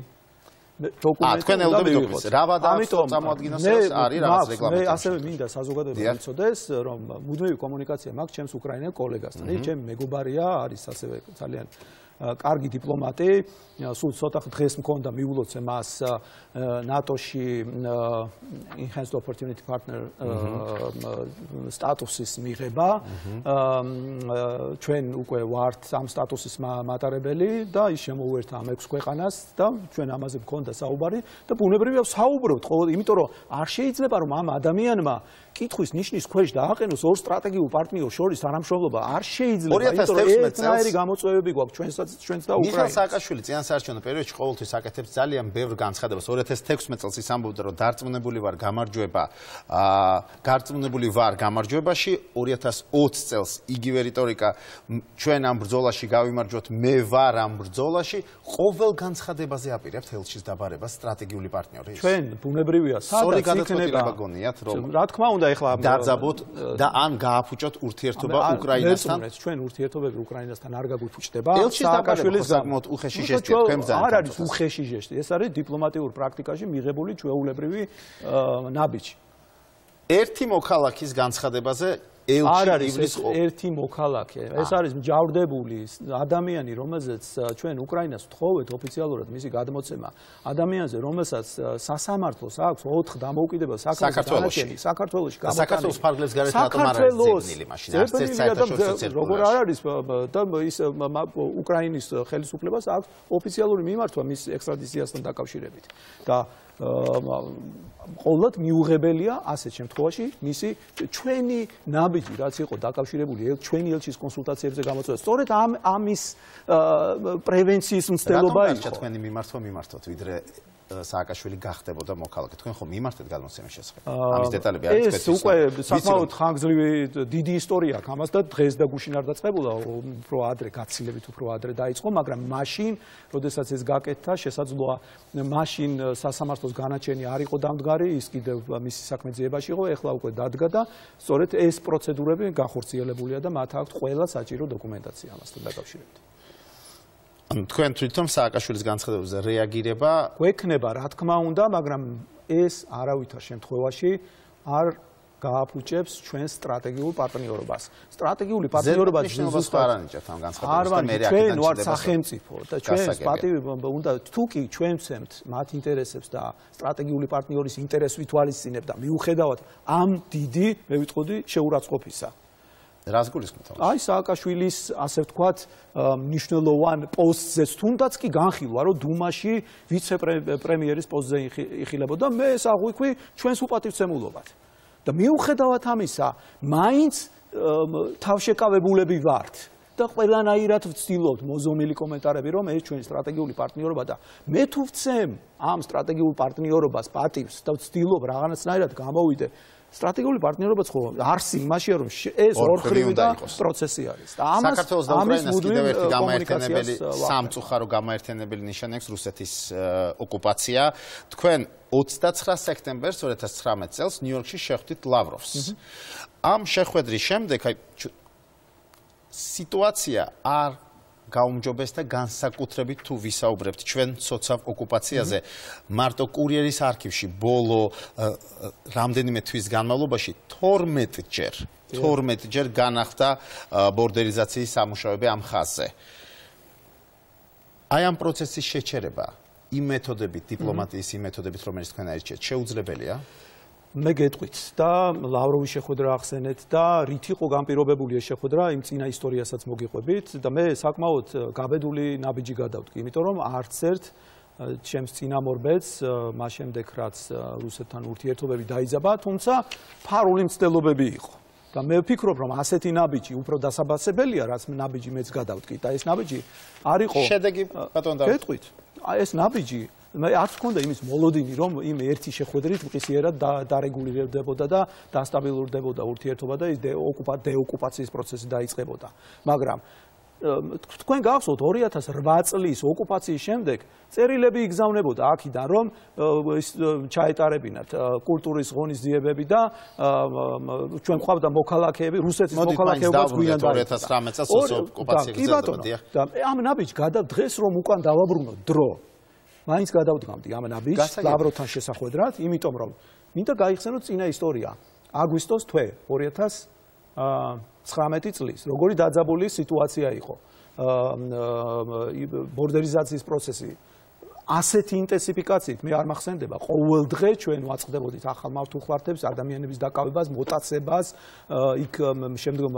დოკუმენტი თქვენ ელოდებით დოკუმენტს რა ვადაახსოვთ წარმოადგინოს არის რაღაც რეგლამენტი მე ასევე მინდა საზოგადოება იცოდეს რომ მუდმივი კომუნიკაცია მაქვს ჩემს უკრაინელ კოლეგასთან ჩემი მეგობარია არის ასევე ძალიან კარგი დიპლომატი სულ ცოტა დღეს მქონდა მიულოცე მას ნატოში enhanced opportunity partner სტატუსის მიღება ჩვენ უკვე ვართ ამ სტატუსის მატარებელი და ის შემოუერთა ამ 6 ქვეყანას და ჩვენ ამაზე მქონდა საუბარი და ბუნებრივია საუბრობთ ყოველ იმიტომ რომ არ შეიძლება რომ ამ ადამიანმა კითხვის ნიშნის ქვეშ დააყენოს ორ სტრატეგიულ პარტნიორს შორის თანამშრომლობა არ შეიძლება იმიტომ რომ ერთნაირი გამოწვევები გვაქვს ჩვენს და უკრაინას. მიხეილ სააკაშვილი წინასაარჩევნო პერიოდში ყოველთვის აკეთებს ძალიან ბევრ განცხადებას. 2016 წელს ის ამბობდა რომ დარწმუნებული ვარ გამარჯვებაში 2020 წელს იგივე რიტორიკა ჩვენ ამ ბრძოლაში გავიმარჯვოთ მე ვარ ამ ბრძოლაში ყოველ განცხადებაზე აპირებთ ელჩის დაბარებას სტრატეგიული პარტნიორი. ჩვენ ბუნებრივია სადაც იქნება გონიათ რომ რა თქმა უნდა ეხლა დაძაბოთ და ან გააფუჭოთ ურთიერთობა უკრაინასთან. ჩვენ ურთიერთობები უკრაინასთან არ გაგიფუჭდება. სააკაშვილის საკმაოდ უხეში ჟესტია თქვენ ბრძანებთ. არ არის უხეში ჟესტი, ეს არის დიპლომატიურ პრაქტიკაში მიღებული ჩვეულებრივი ნაბიჯი. ერთი მოქალაქის განცხადებაზე არ არის ერთი მოქალაქე. ეს არის მჯავრდებული ადამიანი, რომელზეც ჩვენ უკრაინას ვთხოვეთ ოფიციალურად მისი გადმოცემა. ადამიანზე, რომელსაც სასამართლოს აქვს 4 დამოუკიდებელ საქართველოში. საქართველოში საქართველოს ფარგლებს გარეთ რატომ არ არის ზეგნილი მაშინ? არც ერთ საერთაშორისო წერტილში. როგორ არ არის და ის უკრაინის ხელისუფლებას აქვს ოფიციალური მიმართვა მის ექსტრადიციასთან დაკავშირებით. და ყოველად მიუღებელია ასეთ შემთხვევაში მისი ჩვენი ნაბიჯი რაც იყო დაკავშირებული ჩვენი ელჩის კონსულტაციებზე გამოწვევა. სწორედ ამის პრევენციის მცდელობა იყო. რატომ თქვენი მიმართვა მიმართოთ ვიდრე სააკაშვილი გახდებოდა მოქალაქე. თქვენ ხომ მიმართეთ გადმოცემის შესახებ? ამის დეტალები არის თქვენთვის. ეს უკვე საკმაოდ ხანგრძლივი დიდი ისტორია აქვს ამას და დღეს და გუშინ არ დაწყებულა, უფრო ადრე გაცილებით უფრო ადრე დაიწყო, მაგრამ მაშინ, როდესაც ეს გაკეთდა, შესაძლოა მაშინ სასამართლოს განაჩენი არ იყო დამდგარი, ის კიდევ მისი საქმე ძიებაში იყო, ეხლა უკვე დადგა და სწორედ ეს პროცედურები განხორციელებულია და მათ აქვთ ყველა საჭირო დოკუმენტაცია ამასთან დაკავშირებით. თქვენ თვითონ სააკაშვილის განცხადებებზე რეაგირება გვექნება, რა თქმა უნდა, მაგრამ ეს არავითარ შემთხვევაში არ გააფუჭებს ჩვენს სტრატეგიულ პარტნიორობას. სტრატეგიული პარტნიორობა ზუსტად არ ანიჭებთ ამ განცხადებებს და მე რეაგირება ჩვენ ვართ სახელმწიფო და ჩვენს პატივი უნდა თუ კი ჩვენ ვცემთ მათ ინტერესებს და სტრატეგიული პარტნიორის ინტერესს ვითვალისწინებთ და მიუხედავად ამ დიდი, მე ვიტყოდი, შეურაცხყოფისა. რას გულისხმობთ? აი სააკაშვილის ასე ვთქვათ მნიშვნელოვან პოსტზეც თუნდაც კი განხილვა რომ დუმაში ვიცე-პრემიერის პოსტზე იხილებოდა მე ეს აღვიქვი ჩვენს უპატივცემულობად და მიუხედავად ამისა მაინც თავშეკავებულები ვართ და ყველანაირად ვცდილობთ მოზომილი კომენტარები რომ ეს ჩვენი სტრატეგიული პარტნიორობა და მე თუ ვცემ ამ სტრატეგიულ პარტნიორობას პატივს და ვცდილობ რაღაცნაირად გამოვიდე სტრატეგიული პარტნიორობაც ხო არსი იმაშია რომ ეს ორხრივი და პროცესი არის და ამას საქართველოს და უკრაინას კიდევ ერთი გამაერთიანებელი სამწუხარო გამაერთიანებელი ნიშანი აქვს რუსეთის ოკუპაცია. თქვენ 29 სექტემბერს 2019 წელს ნიუ-იორკში შეხვდით ლავროვს. ამ შეხვედრის შემდეგ აი სიტუაცია არ გაუმჯობეს და განსაკუთრებით თუ ვისაუბრებთ ჩვენ ცოცავ ოკუპაციაზე მარტო კურიერის არქივში ბოლო რამდენიმე თვის განმავლობაში 12 ჯერ განახლდა ბორდერიზაციის სამუშაოები ამ ხაზზე. აი ამ პროცესის შეჩერება იმ მეთოდებით, დიპლომატიის იმ მეთოდებით, რომელიც თქვენ აირჩიეთ, შეუძლებელია? მე გეტყვით და ლავროვის შეხვედრა ახსენეთ და რით იყო განპირობებული ეს შეხვედრა იმ წინა ისტორიასაც მოგიყვებით და მე საკმაოდ გაბედული ნაბიჯი გადავდგი, იმიტომ რომ არც ერთ ჩემს წინამორბედს მას შემდეგ რაც რუსეთთან ურთიერთობები დაიძაბა, თუმცა ფარული მცდელობები იყო. და მე ვფიქრობ რომ ასეთი ნაბიჯი უფრო დასაბასებელია, რაც ნაბიჯი მეც გადავდგი და ეს ნაბიჯი არ იყო შედეგი ბატონ დავით. გეტყვით. ეს ნაბიჯი მე არც მქონდა იმის მოლოდინი რომ იმ ერთი შეხვედრით მყისიერად დარეგულირდებოდა და დასტაბილურდებოდა ურთიერთობა და ის დეოკუპაციის პროცესი დაიწყებოდა. მაგრამ თქვენ გახსოვთ 2008 წლის ოკუპაციის შემდეგ წერილები იგზავნებოდა აქედან რომ ჩაეტარებინათ კულტურის ღონისძიებები და ჩვენ ყავდა მოქალაქეები რუსეთის მოქალაქეობაც გვიან 2019 წელს ოკუპაცია გრძელდებოდა. და ამ ნაბიჯს დღეს რომ უკან დავაბრუნოთ დრო მაინც გადავდგამდი ამ ნაბიჯს ლავროვთან შესახვედრად, იმიტომ რომ მინდა გაიხსენოთ წინა ისტორია. აგვისტოს თვე 2019 წლის, როგორი დაძაბული სიტუაცია იყო. ბორდერიზაციის პროცესი ასეთი ინტენსიფიკაციით მე არ მახსენდება ყოველ დღე ჩვენ ვაწყდებოდით ახალ მართლმხლართებს, ადამიანების დაკავებას, მოტაცებას, იქ შემდგომ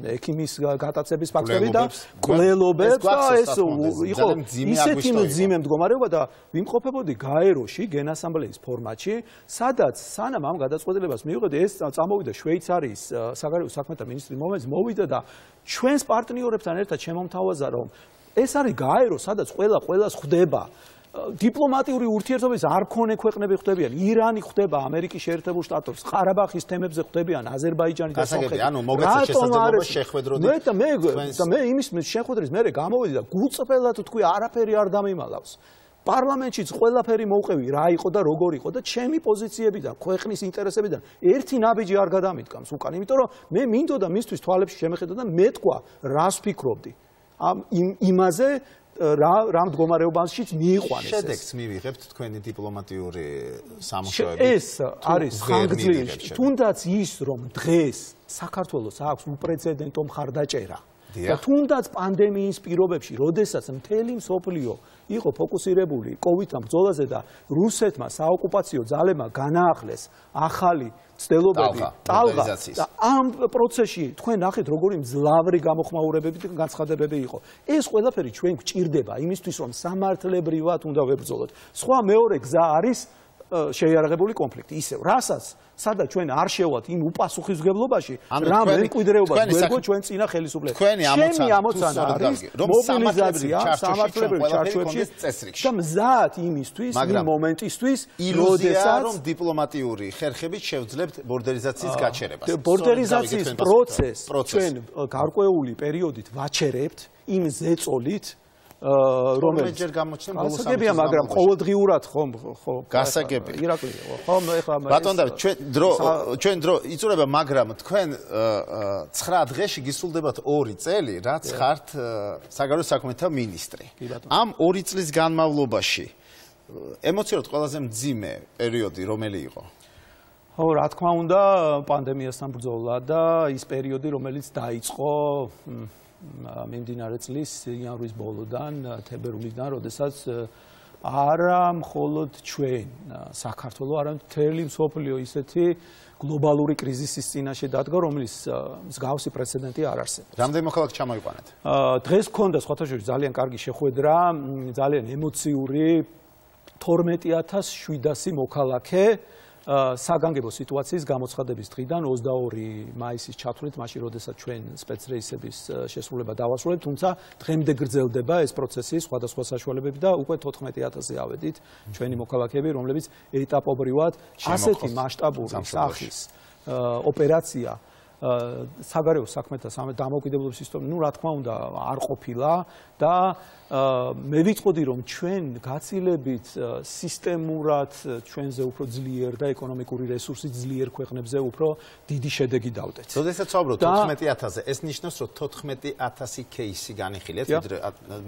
ექიმის გატაცების ფაქტები და კვლელობებს და ეს იყო ისეთი მძიმე მდგომარეობა და ვიმყოფებოდი გაეროში გენასამბლეის ფორმატში, სადაც სანამ ამ გადაწყვეტილებას მივიღეთ, ეს წამოვიდა შვეიცარიის საგარეო საქმეთა მინისტრის მოვიდა და ჩვენს პარტნიორებთან ერთად შემომთავაზა რომ ეს არის გაერო, სადაც ყველას ხვდება. დიპლომატიური ურთიერთობების არ მქონე ქვეყნები ხვდებიან. ირანი ხვდება ამერიკის შეერთებულ შტატებს, ყარაბაღის თემებზე ხვდებიან აზერბაიჯანი და სომხეთი. ანუ მოგეცეთ შესაძლებლობა შეხვედროდეთ. და მე იმის შეხვედრის მერე გამოვედი და გულწრფელად თქვი არაფერი არ დამიმალავს. პარლამენტშიც ყველაფერი მოვყევი რა იყო და როგორ იყო და ჩემი პოზიციებიდან, ქვეყნის ინტერესებიდან ერთი ნაბიჯი არ გადამიდგამს უკან, იმიტომ რომ მე მინდოდა მისთვის თვალებში შემეხედა და მეთქვა რას ვფიქრობდი. იმაზე რა მდგომარეობაშიც მიიყვანეს ეს. შედეგს მივიღებთ თქვენი დიპლომატიური სამუშაოები. ეს არის ხანგრძლივი. თუნდაც ის რომ დღეს საქართველოს აქვს უპრეცედენტო მხარდაჭერა. და თუნდაც პანდემიის პირობებში, როდესაც მთელი მსოფლიო იყო ფოკუსირებული კოვიდთან ბრძოლაზე და რუსეთმა საოკუპაციო ძალებმა განაახლეს ახალი ცდილობები ტალღა და ამ პროცესში თქვენ ნახეთ როგორი მძლავრი გამოხმაურებები და განცხადებები იყო. ეს ყველაფერი ჩვენ გვჭირდება იმისთვის რომ სამართლებრივად უნდა ვებრძოლოთ. სხვა მეორე გზა არის შეიარაღებული კონფლიქტი. ისევ რასაც სადაც ჩვენ არ შევალთ იმ უპასუხისმგებლობაში, რა მემკვიდრეობას გვერგო ჩვენ წინა ხელისუფლებას. ჩემი ამოცანა არის მობილიზაცია სამართლებრივ ჩარჩოებში და მზად იმისთვის, იმ მომენტისთვის, როდესაც რომ დიპლომატიური ხერხებით შევძლებთ ბორდერიზაციის გაჩერებას. ბორდერიზაციის პროცესს ჩვენ გარკვეული პერიოდით ვაჩერებთ იმ ზეწოლით რომელიც ჯერ გამოჩნდა ბოლოს გასაგებია, მაგრამ ყოველდღიურად ხომ გასაგებია. ირაკლი ხომ ეხლა ბატონ დავით, ჩვენ დრო იწურება, მაგრამ თქვენ 9 დღეში გისულდებათ 2 წელი, რაც ხართ საგარეო საქმეთა მინისტრი. ამ 2 წლის განმავლობაში ემოციურად ყველაზე მძიმე პერიოდი რომელი იყო? ხო, რა თქმა უნდა, პანდემიასთან ბრძოლა და ის პერიოდი, რომელიც დაიწყო მიმდინარე წლის იანვრის ბოლოდან, თებერვლიდან, როდესაც არა მხოლოდ ჩვენ საქართველო, არამედ მთელი მსოფლიო ისეთი გლობალური კრიზისის წინაშე დადგა, რომელიც მსგავსი პრეცედენტი არ არსებობს. რამდენი მოქალაქე ჩამოიყვანეთ? დღეს გქონდა სხვათა შორის ძალიან კარგი შეხვედრა, ძალიან ემოციური 12700 მოქალაქე საგანგებო სიტუაციის გამოცხადების დღიდან 22 მაისის ჩათვლით, მაშინ როდესაც ჩვენ სპეცრეისების შესრულება დავასრულებთ, თუმცა დღემდე გრძელდება ეს პროცესი სხვადასხვა საშუალებებით და უკვე 14000-ზე ავედით ჩვენი მოქალაქეები, რომლებიც ეტაპობრივად ასეთი მასშტაბური სახის ოპერაცია საგარეო საქმეთა დამოუკიდებლობის ისტორია, რა თქმა უნდა, არ ყოფილა და მე ვიტყოდი რომ ჩვენ გაცილებით სისტემურად ჩვენზე უფრო ძლიერ და ეკონომიკური რესურსით ძლიერ ქვეყნებზე უფრო დიდი შედეგი დავდეთ. როდესაც ვაუბრობთ 14000-ზე, ეს ნიშნავს რომ 14000 кейსი განიხილეთ ვიდრე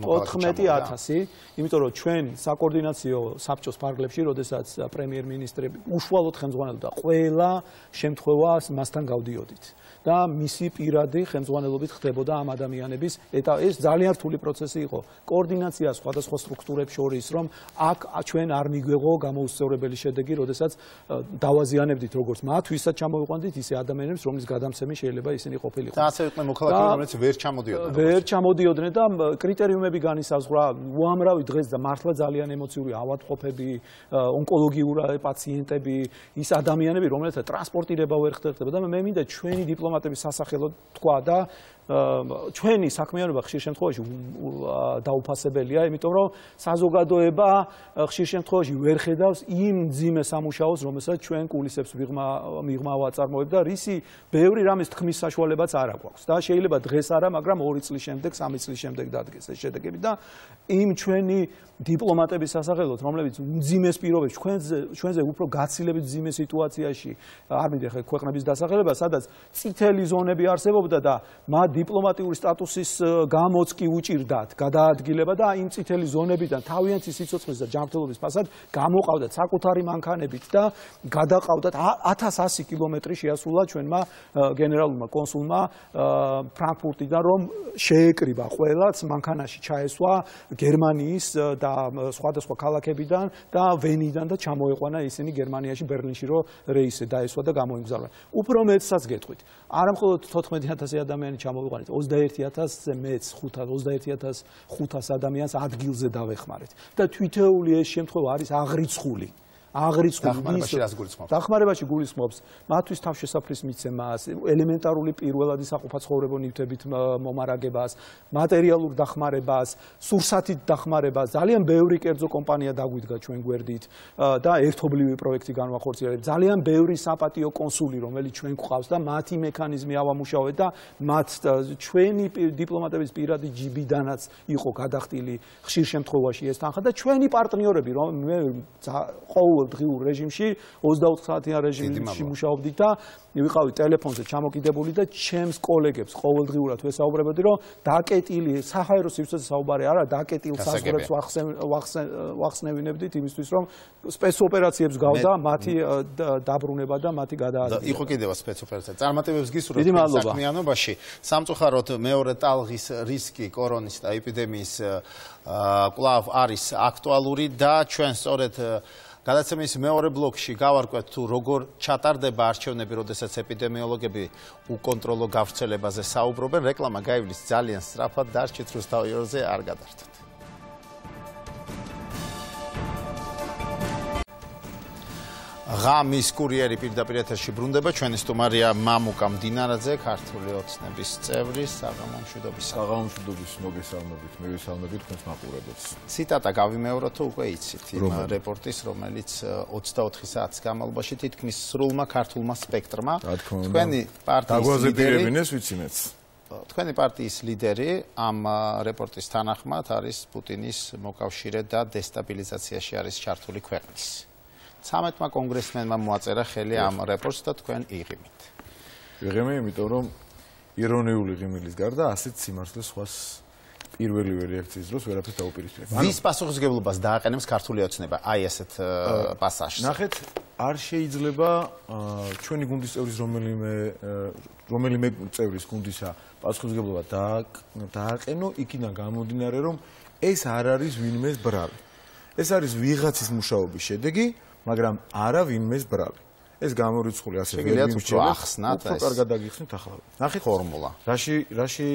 მოქალაქე 14000, იმიტომ რომ ჩვენ საკოორდინაციო საბჭოს ფარგლებში, როდესაც პრემიერ-მინისტრები უშუალოდ ხელმძღვანელობდა ყველა შემთხვევას მასთან გავდიოდით. და მისი პირადი ხელმძღვანელობით ხდებოდა ამ ადამიანების ეს ძალიან რთული პროცესი იყო. კოორდინაცია სხვადასხვა სტრუქტურებს შორის, რომ აქ ჩვენ არ მიგვეღო გამოუსწორებელი შედეგი, როდესაც დავაზიანებდით როგორც მათ, ვისაც ჩამოვიყვანდით, ისე ადამიანებს, რომლის გადამცემი შეიძლება ისინი ყოფილიყო. და ასე იყვნენ მოქალაქეები, რომლებიც ვერ ჩამოდიოდნენ. ვერ ჩამოდიოდნენ და კრიტერიუმები განისაზღვრა, უამრავი დღეს და მართლა ძალიან ემოციური ავადმყოფები, ონკოლოგიური პაციენტები, ის ადამიანები, რომელთა ტრანსპორტირება ვერ ხდებოდა და მე მინდა ჩვენი დიპლომატების სასახელოდ თქვა და ჩვენი საქმიანობა ხშირ შემთხვევაში დაუფასებელია, იმიტომ რომ საზოგადოება ხშირ შემთხვევაში ვერ ხედავს იმ მძიმე სამუშაოს, რომელსაც ჩვენ კულისებს მიღმა ვაწარმოებთ და რისი ბევრი რამის თქმის საშუალებაც არ აქვს. და შეიძლება დღეს არა, მაგრამ 2 წლის შემდეგ, 3 წლის შემდეგ დადგეს ეს შედეგები და იმ ჩვენი დიპლომატების სასახელოდ, რომლებიც მძიმე პირობებში ჩვენზე უფრო გაცილებით მძიმე სიტუაციაში არ მინდა ხე ქვეყნების დასახელება, სადაც წითელი ზონები არსებობდა და მათ დიპლომატიური სტატუსის გამოც კი უჭირდათ გადაადგილება და იმ წითელი ზონებიდან თავიანთი სიცოცხლის და ჯანმრთელობის ფასად გამოყავდათ საკუთარი მანქანებით და გადაყავდათ 1100 კილომეტრი შეასრულა ჩვენმა გენერალურმა კონსულმა ფრანკფურტიდან რომ შეეკრიბა ყველაც მანქანაში ჩაესვა გერმანიის და სხვადასხვა ქალაქებიდან და ვენიდან და ჩამოეყვანა ისინი გერმანიაში ბერლინში რომ რეისი დაესვა და გამოიმგზავრა. უფრო მეცსაც გეტყვით. არა მხოლოდ 14000 ადამიანი ჩამოვიყვანეთ, 21000-ზე მეც 21500 ადამიანს ადგილზე დავეხმარეთ. და თვითეული ეს შემთხვევა არის აღრიცხული. დახმარებაში გულისხმობს მათთვის თავშესაფრის მიცემას, ელემენტარული პირველადი საყოფაცხოვრებო ნივთებით მომარაგებას, მატერიალურ დახმარებას, სურსათით დახმარებას. ძალიან ბევრი კერძო კომპანია დაგვიდგა ჩვენ გვერდით და ერთობლივი პროექტი განვახორციელებთ. ძალიან ბევრი საპატიო კონსული, რომელიც ჩვენ გვყავს და მათი მექანიზმი ავამუშავეთ და მათ ჩვენი დიპლომატების პირადი ჯიბიდანაც იყო გადახდილი ხშირ შემთხვევაში ეს თანხა და ჩვენი პარტნიორები რომ მე ყოველდღიურ რეჟიმში 24 საათიან რეჟიმში მუშაობდით და ვიყავი ტელეფონზე ჩამოკიდებული და ჩემს კოლეგებს ყოველდღიურად ვესაუბრებოდი რომ დაკეტილი საჰაერო სივრცეზე საუბარი არა დაკეტილ საზღვრებს ვახსნევინებდით იმისთვის რომ სპეცოპერაციებს გავდა მათი დაბრუნება და მათი გადაადგილება. იყო კიდევ სპეცოპერაცია. წარმატებებს გისურვებთ საქმიანობაში. სამწუხაროდ მეორე ტალღის რისკი კორონის და ეპიდემიის კვლავ არის აქტუალური და ჩვენ სწორედ გადაცემის მეორე ბლოკში გავარკვევთ თუ როგორ ჩატარდება არჩევნები, როდესაც ეპიდემიოლოგები უკონტროლო გავრცელებაზე საუბრობენ. რეკლამა გაივლის ძალიან სწრაფად, დარჩით რუსთავიორზე, არ გადართოთ. ღამის კურიერი პირდაპირ ეთერში ბრუნდება. ჩვენი სტუმარია მამუკა მდინარაძე, ქართული ოცნების წევრი, საღამომშვიდობის მოგესალმებით, მივესალმებით თქვენს მაყურებელს. ციტატა გავიმეორო თუ უკვე იცით იმ რეპორტის, რომელიც 24 საათის განმავლობაში თითქმის სრულმა ქართულმა სპექტრმა თქვენი პარტიის ლიდერი ამ რეპორტის თანახმად არის პუტინის მოკავშირე და დესტაბილიზაციაში არის ჩართული ქვეყნის. 13-მა კონგრესმენმა მოაწერა ხელი ამ რეპორტს და თქვენ იღიმით. ვიღიმე, იმიტომ რომ ირონიული ღიმილის გარდა ასეთ სიმართლეს სხვას პირველივე რეაქციის დროს ვერაფერს დაუპირისპირებ. ვის პასუხისმგებლობას დააყენებს ქართული ოცნება აი ესეთ პასაჟს? ნახეთ, არ შეიძლება ჩვენი გუნდის წევრის რომელიმე წევრის გუნდისა პასუხისმგებლობა დააყენო იქიდან გამომდინარე რომ ეს არ არის ვინმეს ბრალი. ეს არის ვიღაცის მუშაობის შედეგი, მაგრამ არა ვინმეს ბრალი. ეს გამორიცხული ასე ვერ ახსნათ ეს. კარგად დაგიხსნით ახლა. ნახეთ ფორმულა. რაში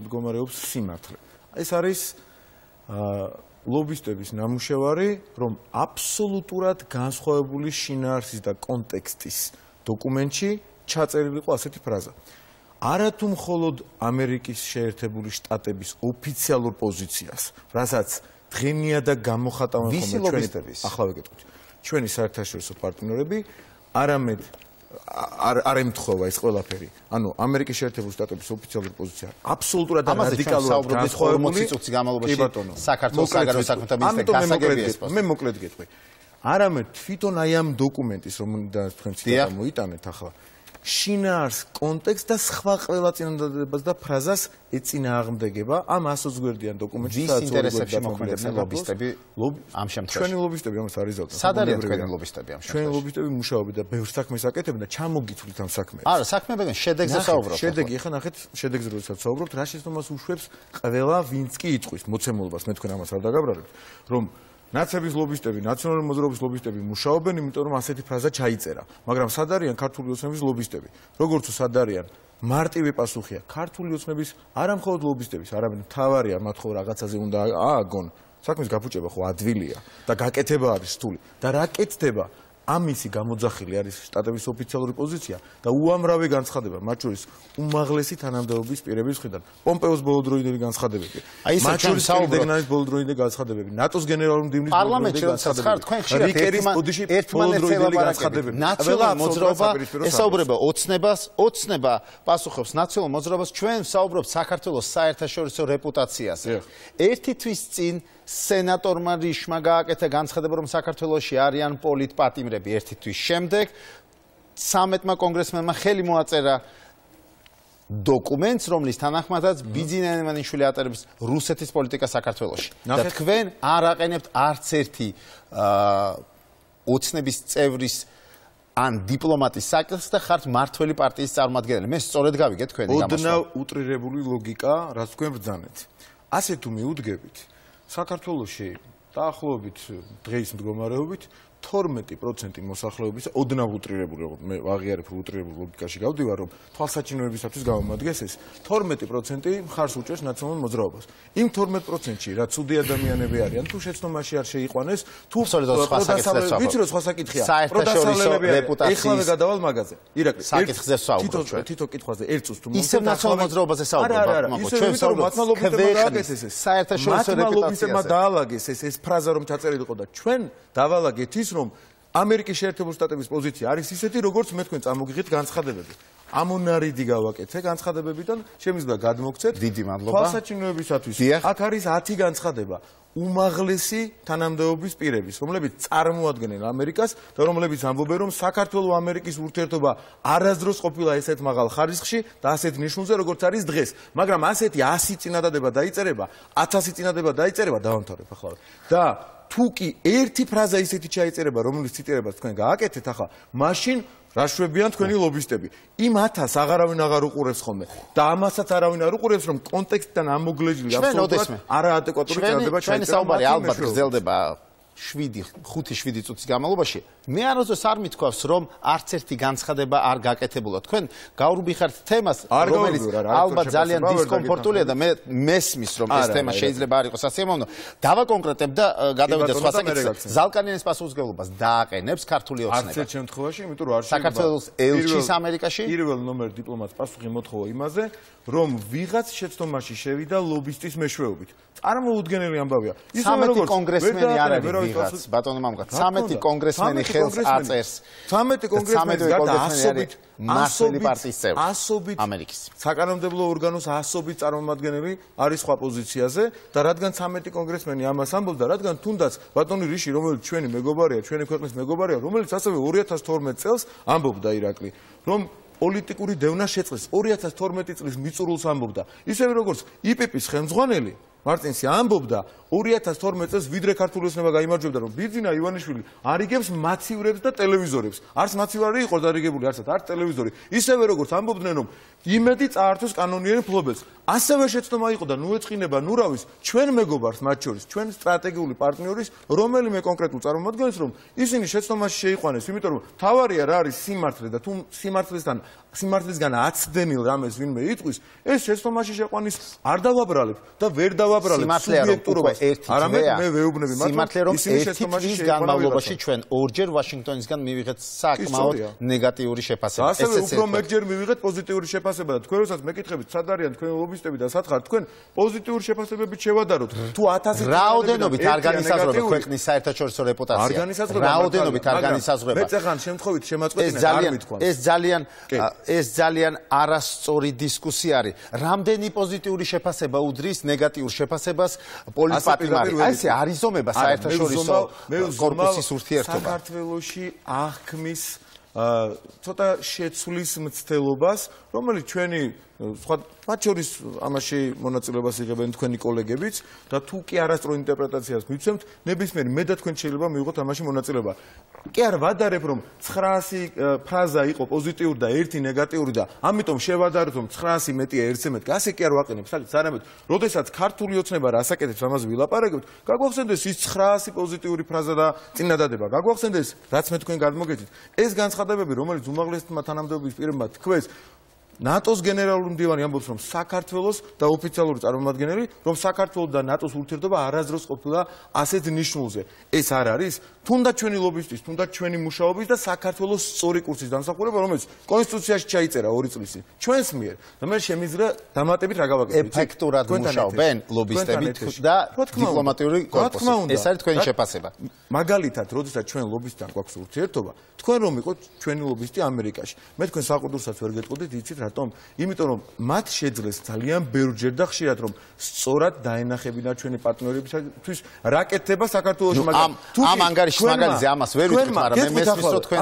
მდგომარეობს სიმართლე. ეს არის ლობისტების ნამუშევარი, რომ აბსოლუტურად განსხვავებული შინაარსის და კონტექსტის დოკუმენტში ჩაწერილი იყო ასეთი ფრაზა. არათუ მხოლოდ ამერიკის შეერთებული შტატების ოფიციალურ პოზიციას, რასაც დღენია და გამოხატავენ ხოლმე ახლა ვეკითხოთ. ჩვენი საერთაშორისო პარტნიორები არამედ არ ემთხვევა ეს ყველაფერი. ანუ ამერიკის შეერთებული შტატების ოფიციალური პოზიცია აბსოლუტურად რადიკალურად განსხვავებული განმავლობაში საქართველოს საგარეო საქმეთა მინისტრი გასაგებია. მე მოკლედ გეტყვი. არამედ თვითონ აი ამ დოკუმენტის რომელიდან თქვენ ციტატა მოიტანეთ ახლა შინაარს კონტექსტ და სხვა ყველა წინადადებას და ფრაზას ეწინააღმდეგება ამ 120 გვერდიან დოკუმენტში. ვის ინტერესებში მოქმედებენ ლობისტები ამ შემთხვევაში? ჩვენი ლობისტები ამას არ იზავდნენ. სად არიან თქვენი ლობისტები ამ შემთხვევაში? ჩვენი ლობისტები მუშაობენ და ბევრ საქმეს აკეთებენ და ჩამოგითვლით ამ საქმეებს. არა, საქმეებიდან შედეგზე საუბრობთ. შედეგი, ახლა ნახეთ, შედეგზე როდესაც საუბრობთ, რა შეცდომას უშვებს ყველა ვინც კი იტყვის მოცემულობას, მე თქვენ ამას არ დაგაბრალებთ, რომ ნაცების ლობისტები, ნაციონალური მოძრაობის ლობისტები მუშაობენ, იმიტომ რომ ასეთი ფრაზა ჩაიწერა. მაგრამ სად არიან ქართული ოცნების ლობისტები? როგორც სად არიან? მარტივი პასუხია. ქართული ოცნების არა მხოლოდ ლობისტების, არამედ მთავარია მათ ხო რაღაცაზე უნდა ააგონ. საქმის გაფუჭება ხო ადვილია და გაკეთება არის რთული. და რა კეთდება? ამისი გამოძახილი არის შტატების ოფიციალური პოზიცია და უამრავი განცხადება, მათ შორის უმაღლესი თანამდებობის პირების მხრიდან. პომპეოს ბოლოდროინდელი განცხადებები. მათ შორის საუბრობთ ბოლოდროინდელი განცხადებები. ნატოს გენერალური მდივნის პარლამენტში განცხადებები. თქვენ ხშირად ერთმანეთს განცხადებები. ნაციონალურ მოძრაობას ესაუბრება ოცნება პასუხობს ნაციონალურ მოძრაობას. ჩვენ საუბრობთ საქართველოს საერთაშორისო რეპუტაციაზე. ერთი თვის წინ სენატორმა რიშმა გააკეთა განცხადება, რომ საქართველოში არიან პოლიტპატიმრები. ერთი თვის შემდეგ 13-მა კონგრესმენმა ხელი მოაწერა დოკუმენტს, რომლის თანახმადაც ბიძინა ივანიშვილი ატარებს რუსეთის პოლიტიკა საქართველოში. და თქვენ არ აყენებთ არც ერთი ოცნების წევრის ან დიპლომატის საკითხს და ხართ მართველი პარტიის წარმომადგენელი. მე სწორედ გავიგე თქვენი გამოსვლა. ოდნავ უტრირებული ლოგიკა, რაც თქვენ ბრძანეთ. ასე თუ მიუდგებით, საქართველოში დაახლოებით დღეის მდგომარეობით 12% მოსახლეობის ოდნავ უტრირებული, მე ვაღიარებ უტრირებულ ლოგიკაში გავდივარ, რომ თვალსაჩინოებისათვის გამომადგეს ეს 12% მხარს უჭერს ნაციონალურ მოძრაობას. იმ 12%-ში რა ცუდი ადამიანები არიან, თუ შეცდომაში არ შეიყვანეს, თუ ვიცი რომ სხვა საკითხია. საერთაშორისო რეპუტაციის ეხლავე გადავალ მაგაზე. ირაკლი, საკითხზე ვსაუბრობ ჩვენ. თითო კითხვაზე ერთ წუთს თუ ისევ ნაციონალურ მოძრაობაზე საუბრობ, მაგო ჩვენ ვსაუბრობთ საერთაშორისო რეპუტაციაზე. დაალაგეს ეს ფრაზა რომ ჩაწერილიყო და ჩვენ დავალაგეთ ის რომ ამერიკის შეერთებული შტატების პოზიცია არის ისეთი, როგორც მე თქვენ წამოგიღეთ განცხადებები. ამონარიდი გავაკეთე განცხადებებიდან, შემიძლია გადმოგცეთ. დიდი მადლობა. თვალსაჩინოებისათვის აქ არის 10 განცხადება. უმაღლესი თანამდებობის პირების, რომლებიც წარმოადგენენ ამერიკას და რომლებიც ამბობენ, რომ საქართველოს ამერიკის ურთიერთობა არასდროს ყოფილა ესეთ მაღალ ხარისხში და ასეთ ნიშნულზე, როგორც არის დღეს. მაგრამ ასეთი 100 წინადადება დაიწერება, 1000 წინადადება დაიწერება, დავამთავრებ ახლა. და თუ კი ერთი ფრაზა ისეთი ჩაიწერება, რომელიც ციტირებას თქვენ გააკეთეთ ახლა, მაშინ რა შვებიან თქვენი ლობისტები. იმ 1000 აღარავინ აღარ უყურებს ხოლმე და ამასაც არავინ არ უყურებს, რომ კონტექსტიდან ამოგლეჯილი აბსოლუტურად არაადეკვატური წინადადება ჩაიწერა. ჩვენი საუბარი ალბათ გრძელდება 5-7 წუთის განმავლობაში. მე არასდროს არ მithქვავს, რომ არც ერთი განცხადება არ გაკეთებულა. თქვენ გაურბიხართ თემას, რომელიც ალბათ ძალიან დისკომფორტულია და მე მესმის, რომ ეს თემა შეიძლება არ იყოს ასიამოვნო. დავაკონკრეტებ და გადავიდე სხვა საკითხზე. ზალკანიანის პასუხისმგებლობას დააყენებს ქართული ოცნება. არც ერთ შემთხვევაში, იმიტომ რომ არ შეიძლება საქართველოს ელჩის ამერიკაში პირველ ნომერ დიპლომატს პასუხი მოთხოვა იმაზე, რომ ვიღაც შეცდომაში შევიდა ლობისტის მეშვეობით. წარმოუდგენელი ამბავია. ისევე როგორც კონგრესმენი არ არის ვიღაც, ბატონო მამუკა, 13 კონგრესმენი ხელს აწერს. 13 კონგრესმენი გარდა ასობით მასელი პარტიის წევრი ამერიკის. საკანონმდებლო ორგანოს ასობით წარმომადგენელი არის სხვა პოზიციაზე და რადგან 13 კონგრესმენი ამას ამბობს და რადგან თუნდაც ბატონი რიში, რომელიც ჩვენი მეგობარია, ჩვენი ქვეყნის მეგობარია, რომელიც ასევე 2012 წელს ამბობდა ირაკლი, რომ პოლიტიკური დევნა შეწყდეს 2012 წლის მიწურულს ამბობდა. ისევე როგორც იპიპის ხელმძღვანელი მარტინსი ამბობდა 2012 წელს ვიდრე ქართული ოცნება გაიმარჯვებდა, რომ ბიძინა ივანიშვილი არიგებს მაცივრებს და ტელევიზორებს. არც მაცივარი იყო დარიგებული, არც ტელევიზორი. ისევე როგორც ამბობდნენ, რომ იმედი წაართვეს კანონიერი მფლობელს. ასევე შეცდომა იყო და ნუ ეწყინება ნურავის ჩვენ მეგობარს მათ შორის, ჩვენ სტრატეგიული პარტნიორის, რომელიმე კონკრეტულ წარმომადგენელს, რომ ისინი შეცდომაში შეიყვანეს, იმიტომ რომ თავარია რა არის სიმართლე და თუ სიმართლისგან აცდენილ რამეს ვინმე იტყვის, ეს შეცდომაში შეყვანის არ დავაბრალებ და ვერ დავაბრალებ სუბიექტურობას. არამედ მე ვეუბნები მათ, სიმართლე რომ ერთი თვის განმავლობაში ჩვენ ორჯერ ვაშინგტონისგან მივიღეთ საკმაოდ ნეგატიური შეფასება. ასევე უფრო მერჯერ მივიღეთ პოზიტიური შეფასება და თქვენ როდესაც მეკითხებით, სად არიან თქვენი ლობისტები და სად ხართ თქვენ პოზიტიური შეფასებებით შევადაროთ. თუ 1000 რაოდენობით არ განისაზღვრება ქვეყნის საერთაშორისო რეპუტაცია. რაოდენობით არ განისაზღვრება. მე წახან შემთხვევით შემაწყვეტინე არ მithქვამს. ეს ძალიან არასწორი დისკუსია არის. რამდენი პოზიტიური შეფასება უდრის ნეგატიურ შეფასებას პოლიტპატიმარი. აი ესე არიზომება საერთაშორისო კორპუსის ურთიერთობა. საქართველოში აღქმის ცოტა შეცვლის მცდელობას, რომელიც ჩვენი სხვა მათ შორის ამაში მონაწილეობას იღებენ თქვენი კოლეგებიც და თუ კი არასწორ ინტერპრეტაციას მიცემთ, ნებისმიერი მე და თქვენ შეიძლება მივიღოთ ამაში მონაწილეობა. კი არ ვადარებ, რომ 900 ფრაზა იყო პოზიტიური და 1 ნეგატიური და ამიტომ შევადაროთ, რომ 900 მეტია 1-ზე მეტი. ასე კი არ ვაყენებ. საკითხს არამედ, როდესაც ქართული ოცნება რასაკეთებს ამაზე ვილაპარაკებთ, გაგვახსენდეს ის 900 პოზიტიური ფრაზა და წინადადება. გაგვახსენდეს, რაც მე თქვენ გადმოგეცით, ეს განცხადებები, რომელიც უმაღლესმა თანამდებობის პირებმა თქვეს, ნატოს გენერალური მდივანი ამბობს, რომ საქართველოს და ოფიციალური წარმომადგენელი, რომ საქართველოს და ნატოს ურთიერთობა არასდროს ყოფილა ასეთ ნიშნულზე. ეს არ არის თუნდაც ჩვენი ლობისტის, თუნდაც ჩვენი მუშაობის და საქართველოს სწორი კურსის დამსახურება, რომელიც კონსტიტუციაში ჩაიწერა 2 წლის წინ. ჩვენს მიერ. და მე შემიძლია დამატებით რა გავაკეთებ. ეფექტურად მუშაობენ ლობისტები და დიპლომატიური კორპუსი. ეს არის თქვენი შეფასება. მაგალითად, როდესაც ჩვენ ლობისტთან გვაქვს ურთიერთობა, თქვენ რომ იყოთ ჩვენი ლობისტი ამერიკაში. მე თქვენ საყურდურსაც ვერ გეტყოდით, იცით რატომ? იმიტომ რომ მათ შეძლეს ძალიან ბევრჯერ და ხშირად რომ სწორად დაენახებინათ ჩვენი პარტნიორებისთვის რა კეთდება საქართველოში, მაგრამ ამ ანგარიშის მაგალითზე ამას ვერ ვიტყვით, მაგრამ მე მესმის რომ თქვენ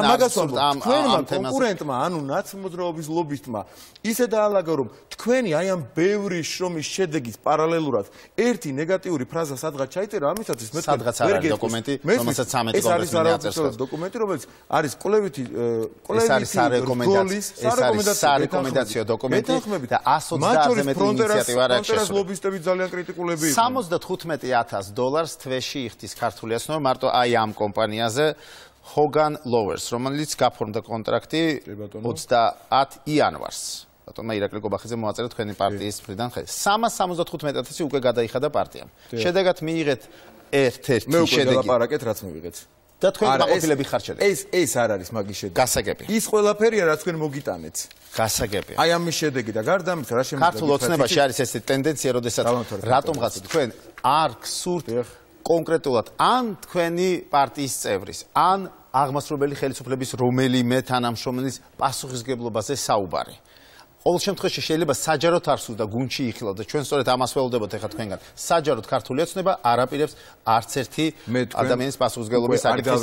ამ კონკურენტმა, ანუ ნაცმოძრაობის ლობისტმა ისე დაალაგა რომ თქვენი აი ამ ბევრი შრომის შედეგის პარალელურად ერთი ნეგატიური ფრაზა სადღაც ჩაიწერა, ამისათვის მე სადღაც არ არის დოკუმენტი, რომელსაც 13 კონგრესმენი აწერს. დოკუმენტი, რომელიც არის კვლევითი ეს არის სარეკომენდაციო დოკუმენტი და 120-ზე მეტი ინიციატივა არ აქვს შესული. ლობისტები ძალიან კრიტიკულები იყვნენ. $75,000 თვეში იხდის ქართული აცნობა მარტო აი ამ კომპანიაზე Hogan Lowers, რომელიც გაფორმდა კონტრაქტი 30 იანვარს. ბატონმა ირაკლი გობახიძე მოაწერა თქვენი პარტიის მხრიდან ხელი. 375,000 უკვე გადაიხადა პარტიამ. შედეგად მიიღეთ ერთ-ერთი მე უკვე ელაპარაკეთ რაც მივიღეთ. და თქვენ მაყოფილები ხართ შედეგი. ეს არ არის მაგის შედეგი. გასაგებია. ის ყველაფერია რაც თქვენ მოგიტანეთ. გასაგებია. აი ამის შედეგი და გარდა ამისა რა შემიძლია ქართულ ოცნებაში არის ესეთი ტენდენცია, როდესაც რატომღაც თქვენ არ გსურთ კონკრეტულად ან თქვენი პარტიის წევრის, ან აღმასრულებელი ხელისუფლების რომელიმე თანამშრომლის პასუხისგებლობაზე საუბარი. ყოველ შემთხვევაში შეიძლება საჯაროდ არ სურდა გუნდში იხილავ და ჩვენ სწორედ ამას ველოდებოდ ეხლა თქვენგან. საჯაროდ ქართული ოცნება არაპირებს არც ერთი ადამიანის პასუხისგებლობის საკითხის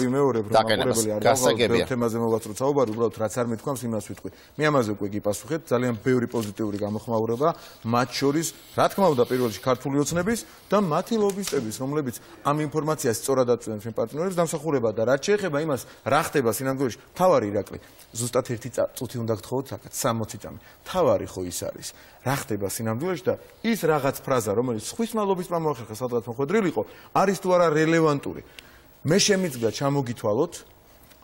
დაყენებას. გასაგებია. თემაზე მოვაწრო საუბარი, უბრალოდ რაც არ მეთქვამს იმას ვიტყვი. მე ამაზე უკვე გიპასუხეთ, ძალიან ბევრი პოზიტიური გამოხმაურება, მათ შორის, რა თქმა უნდა, პირველ რიგში ქართული ოცნების და მათი ლობისტების, რომლებიც ამ ინფორმაციას სწორად აწვდიან ჩვენ პარტნიორებს დამსახურება და რაც შეეხება იმას, რა ხდება სინამდვილეში, თავარი ირაკლი. ზუსტად ერთი წუთი უნდა გთხოვოთ საკაც 60 წამი. თავარი ხო ის არის. რა ხდება სინამდვილეში და ის რაღაც ფრაზა, რომელიც სხვის მალობისტმა მოახერხა სადღაც მოხვედრილიყო, არის თუ არა რელევანტური. მე შემიძლია ჩამოგითვალოთ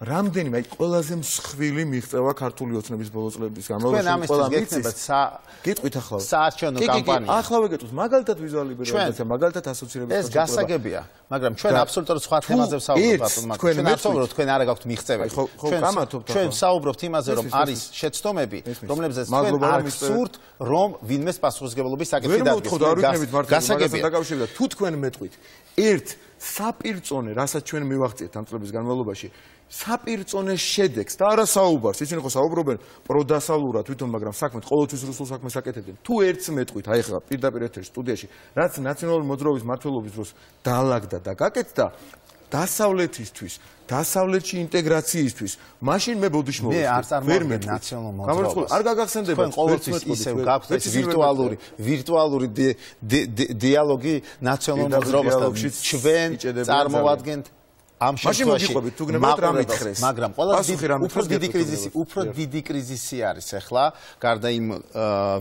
რამდენიმე აი ყველაზე მსხვილი მიღწევა ქართული ოცნების ბოლო წლების განმავლობაში ყველა მიცის. გეტყვით ახლა. საარჩევნო კამპანია. ახლავე გეტყვით, მაგალითად ვიზუალური ბერნაცია, მაგალითად ასოცირების ეს გასაგებია, მაგრამ ჩვენ აბსოლუტურად სხვა თემაზე ვსაუბრობთ, ბატონო. ჩვენ აბსოლუტურად თქვენ არ გაქვთ მიღწევები. ჩვენ ვსაუბრობთ იმაზე, რომ არის შეცდომები, რომლებზეც თქვენ არ გსურთ, რომ ვინმეს პასუხისგებლობის საკითხი დადგეს. გასაგებია. თუ თქვენ მეტყვით, ერთ საპირწონე, რასაც ჩვენ მივაღწიეთ ამ წლების განმავლობაში, საპირწონე შედეგს და არა საუბარს. ისინი ხო საუბრობენ პროდასალურად თვითონ, მაგრამ საქმეთ ყოველთვის რუსულ საქმეს აკეთებდნენ. თუ ერთს მეტყვით, აი ხა პირდაპირ ეთერში სტუდიაში, რაც ნაციონალური მოძრაობის მმართველობის დროს დაალაგდა და გაკეთდა დასავლეთისთვის, დასავლეთში ინტეგრაციისთვის, მაშინ მე ბოდიში მოვედი. მე არ წარმოვიდგენ ნაციონალურ მოძრაობას. არ გაგახსენდება. თქვენ ყოველთვის ისევ გაქვთ ეს ვირტუალური დიალოგი ნაციონალურ მოძრაობასთან. ჩვენ წარმოვადგენთ ამ შემთხვევაში მაგრამ უფრო დიდი კრიზისი არის ახლა გარდა იმ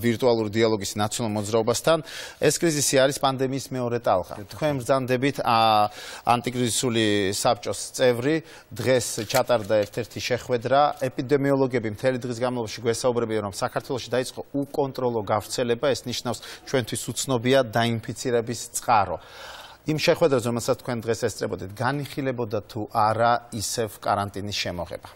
ვირტუალური დიალოგის ნაციონალურ მოძრაობასთან ეს კრიზისი არის პანდემიის მეორე ტალღა. თქვენ ბრძანდებით ანტიკრიზისული საბჭოს წევრი დღეს ჩატარდა ერთ-ერთი შეხვედრა ეპიდემიოლოგები მთელი დღის განმავლობაში გვესაუბრებიან რომ საქართველოში დაიწყო უკონტროლო გავრცელება ეს ნიშნავს ჩვენთვის უცნობია დაინფიცირების წყარო. იმ შეხვედრაზე, რომელსაც თქვენ დღეს ესწრებოდეთ, განიხილებოდა თუ არა ისევ კარანტინის შემოღება?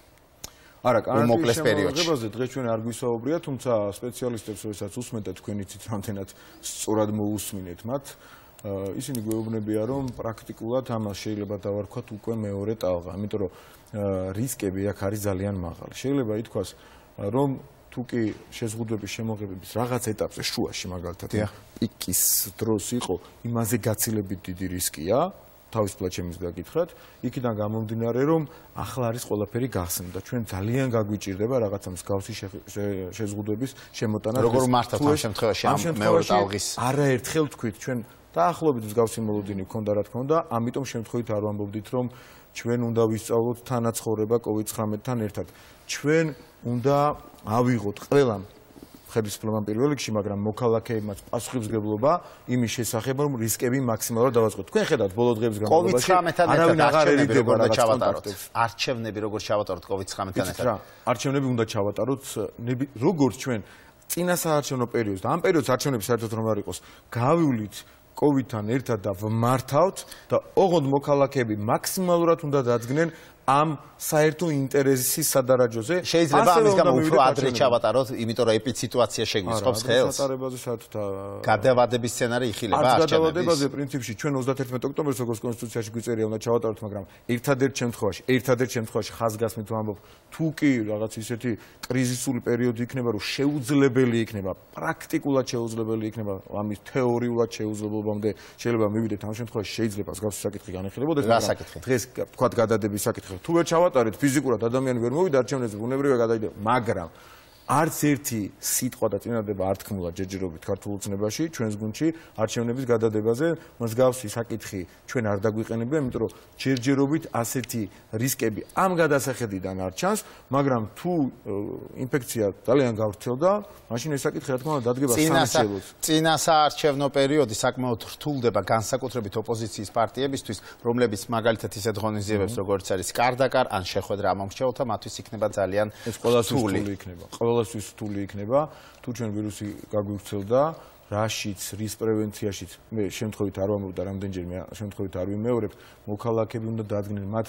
არა, კარანტინის შემოღებაზე დღეს ჩვენ არ გვისაუბრია, თუმცა სპეციალისტებს, როდესაც უსმენთ და თქვენ იცით რამდენად სწორად მოусმინეთ მათ, ისინი გვეუბნებიან, რომ პრაქტიკულად ამას შეიძლება დავარქვათ უკვე მეორე ტალღა, იმიტომ რომ რისკები აქ არის ძალიან მაღალი. შეიძლება ითქვას, რომ თუკი შეზღუდვების შემოღებების რაღაც ეტაპზე შუაში მაგალითად პიკის დროს იყო, იმაზე გაცილებით დიდი რისკია, თავისუფლად შემიძლია გითხრათ, იქიდან გამომდინარე, რომ ახლა არის ყველაფერი გახსნა და ჩვენ ძალიან გაგვიჭირდება რაღაცა მსგავსი შეზღუდვების შემოტანა. როგორ მართავთ ამ შემთხვევაში ამ მეორე ტალღის? არაერთხელ თქვით, ჩვენ დაახლოებით მსგავსი მოლოდინი გქონდა, რა თქმა უნდა, ამიტომ შემთხვევით არ ვამბობდით, რომ ჩვენ უნდა ვისწავლოთ თანაცხოვრება COVID-19-თან ერთად. ჩვენ უნდა ავიღოთ ყველამ ხელისუფლებამ პირველ რიგში, მაგრამ მოქალაქეებმაც პასუხისმგებლობა იმის შესახებ, რომ რისკები მაქსიმალურად დავაწყოთ. თქვენ ხედავთ ბოლო დღეების განმავლობაში არავინ აღარ ერიდება რაღაც კონტაქტებს. არჩევნები როგორ ჩავატაროთ COVID-19-თან ერთად? არჩევნები უნდა ჩავატაროთ, როგორც ჩვენ წინა საარჩევნო პერიოდს და ამ პერიოდს არჩევნები საერთოდ რომ არ იყოს, გავივლით COVID-თან ერთად და ვმართავთ და ოღონდ მოქალაქეები მაქსიმალურად უნდა დადგნენ ამ საერთო ინტერესის სადარაჯოზე. შეიძლება ამის გამო უფრო ადრე ჩავატაროთ, იმიტომ რომ ეპიციტუაცია შეგვიწყობს ხელს. სატარებაზე საერთოდ გადავადების სცენარი იხილება არჩევნების. გადავადებაზე პრინციპში ჩვენ 31 ოქტომბერს როგორც კონსტიტუციაში გვიწერია უნდა ჩავატაროთ, მაგრამ ერთადერთ შემთხვევაში ხაზგასმით ვამბობ, თუ კი რაღაც ისეთი კრიზისული პერიოდი იქნება, რომ შეუძლებელი იქნება, პრაქტიკულად შეუძლებელი იქნება, ამის თეორიულად შეუძლებელობამდე შეიძლება მივიდეთ ამ შემთხვევაში შეიძლება მსგავსი საკითხი განხილებოდეს, მაგრამ დღეს თქვა გადადების საკითხი. თუ ვერ ჩავატარეთ ფიზიკურად ადამიანი ვერ მოვიდა არჩევნებზე, ბუნებრივია გადაიდე, მაგრამ არც ერთი სიტყვა და წინადადება არ თქმულა ჯერჯერობით ქართულ ოცნებაში, ჩვენს გუნდში არჩევნების გადადებაზე, მსგავსი საკითხი ჩვენ არ დაგვიყენებია, იმიტომ რომ ჯერჯერობით ასეთი რისკები ამ გადასახედიდან არ ჩანს, მაგრამ თუ ინფექცია ძალიან გავრცელდა, მაშინ ეს საკითხი რა თქმა უნდა დადგება სამშობლოს. წინა საარჩევნო პერიოდი საკმაოდ რთულდება განსაკუთრებით ოპოზიციის პარტიებისთვის, რომლებიც მაგალითად ისეთ ღონისძიებებს როგორც არის კარდაკარ ან შეხვედრა ამომრჩეველთა, მათთვის იქნება ძალიან რთული იქნება. ყველასთვის რთული იქნება, თუ ჩვენ ვირუსი გაგვივრცელდა, რაშიც, რის პრევენციაშიც, მე შემთხვევით არ ვამბობ და რამდენჯერმე შემთხვევით არ ვიმეორებ, მოქალაქეები უნდა დადგნენ, მათ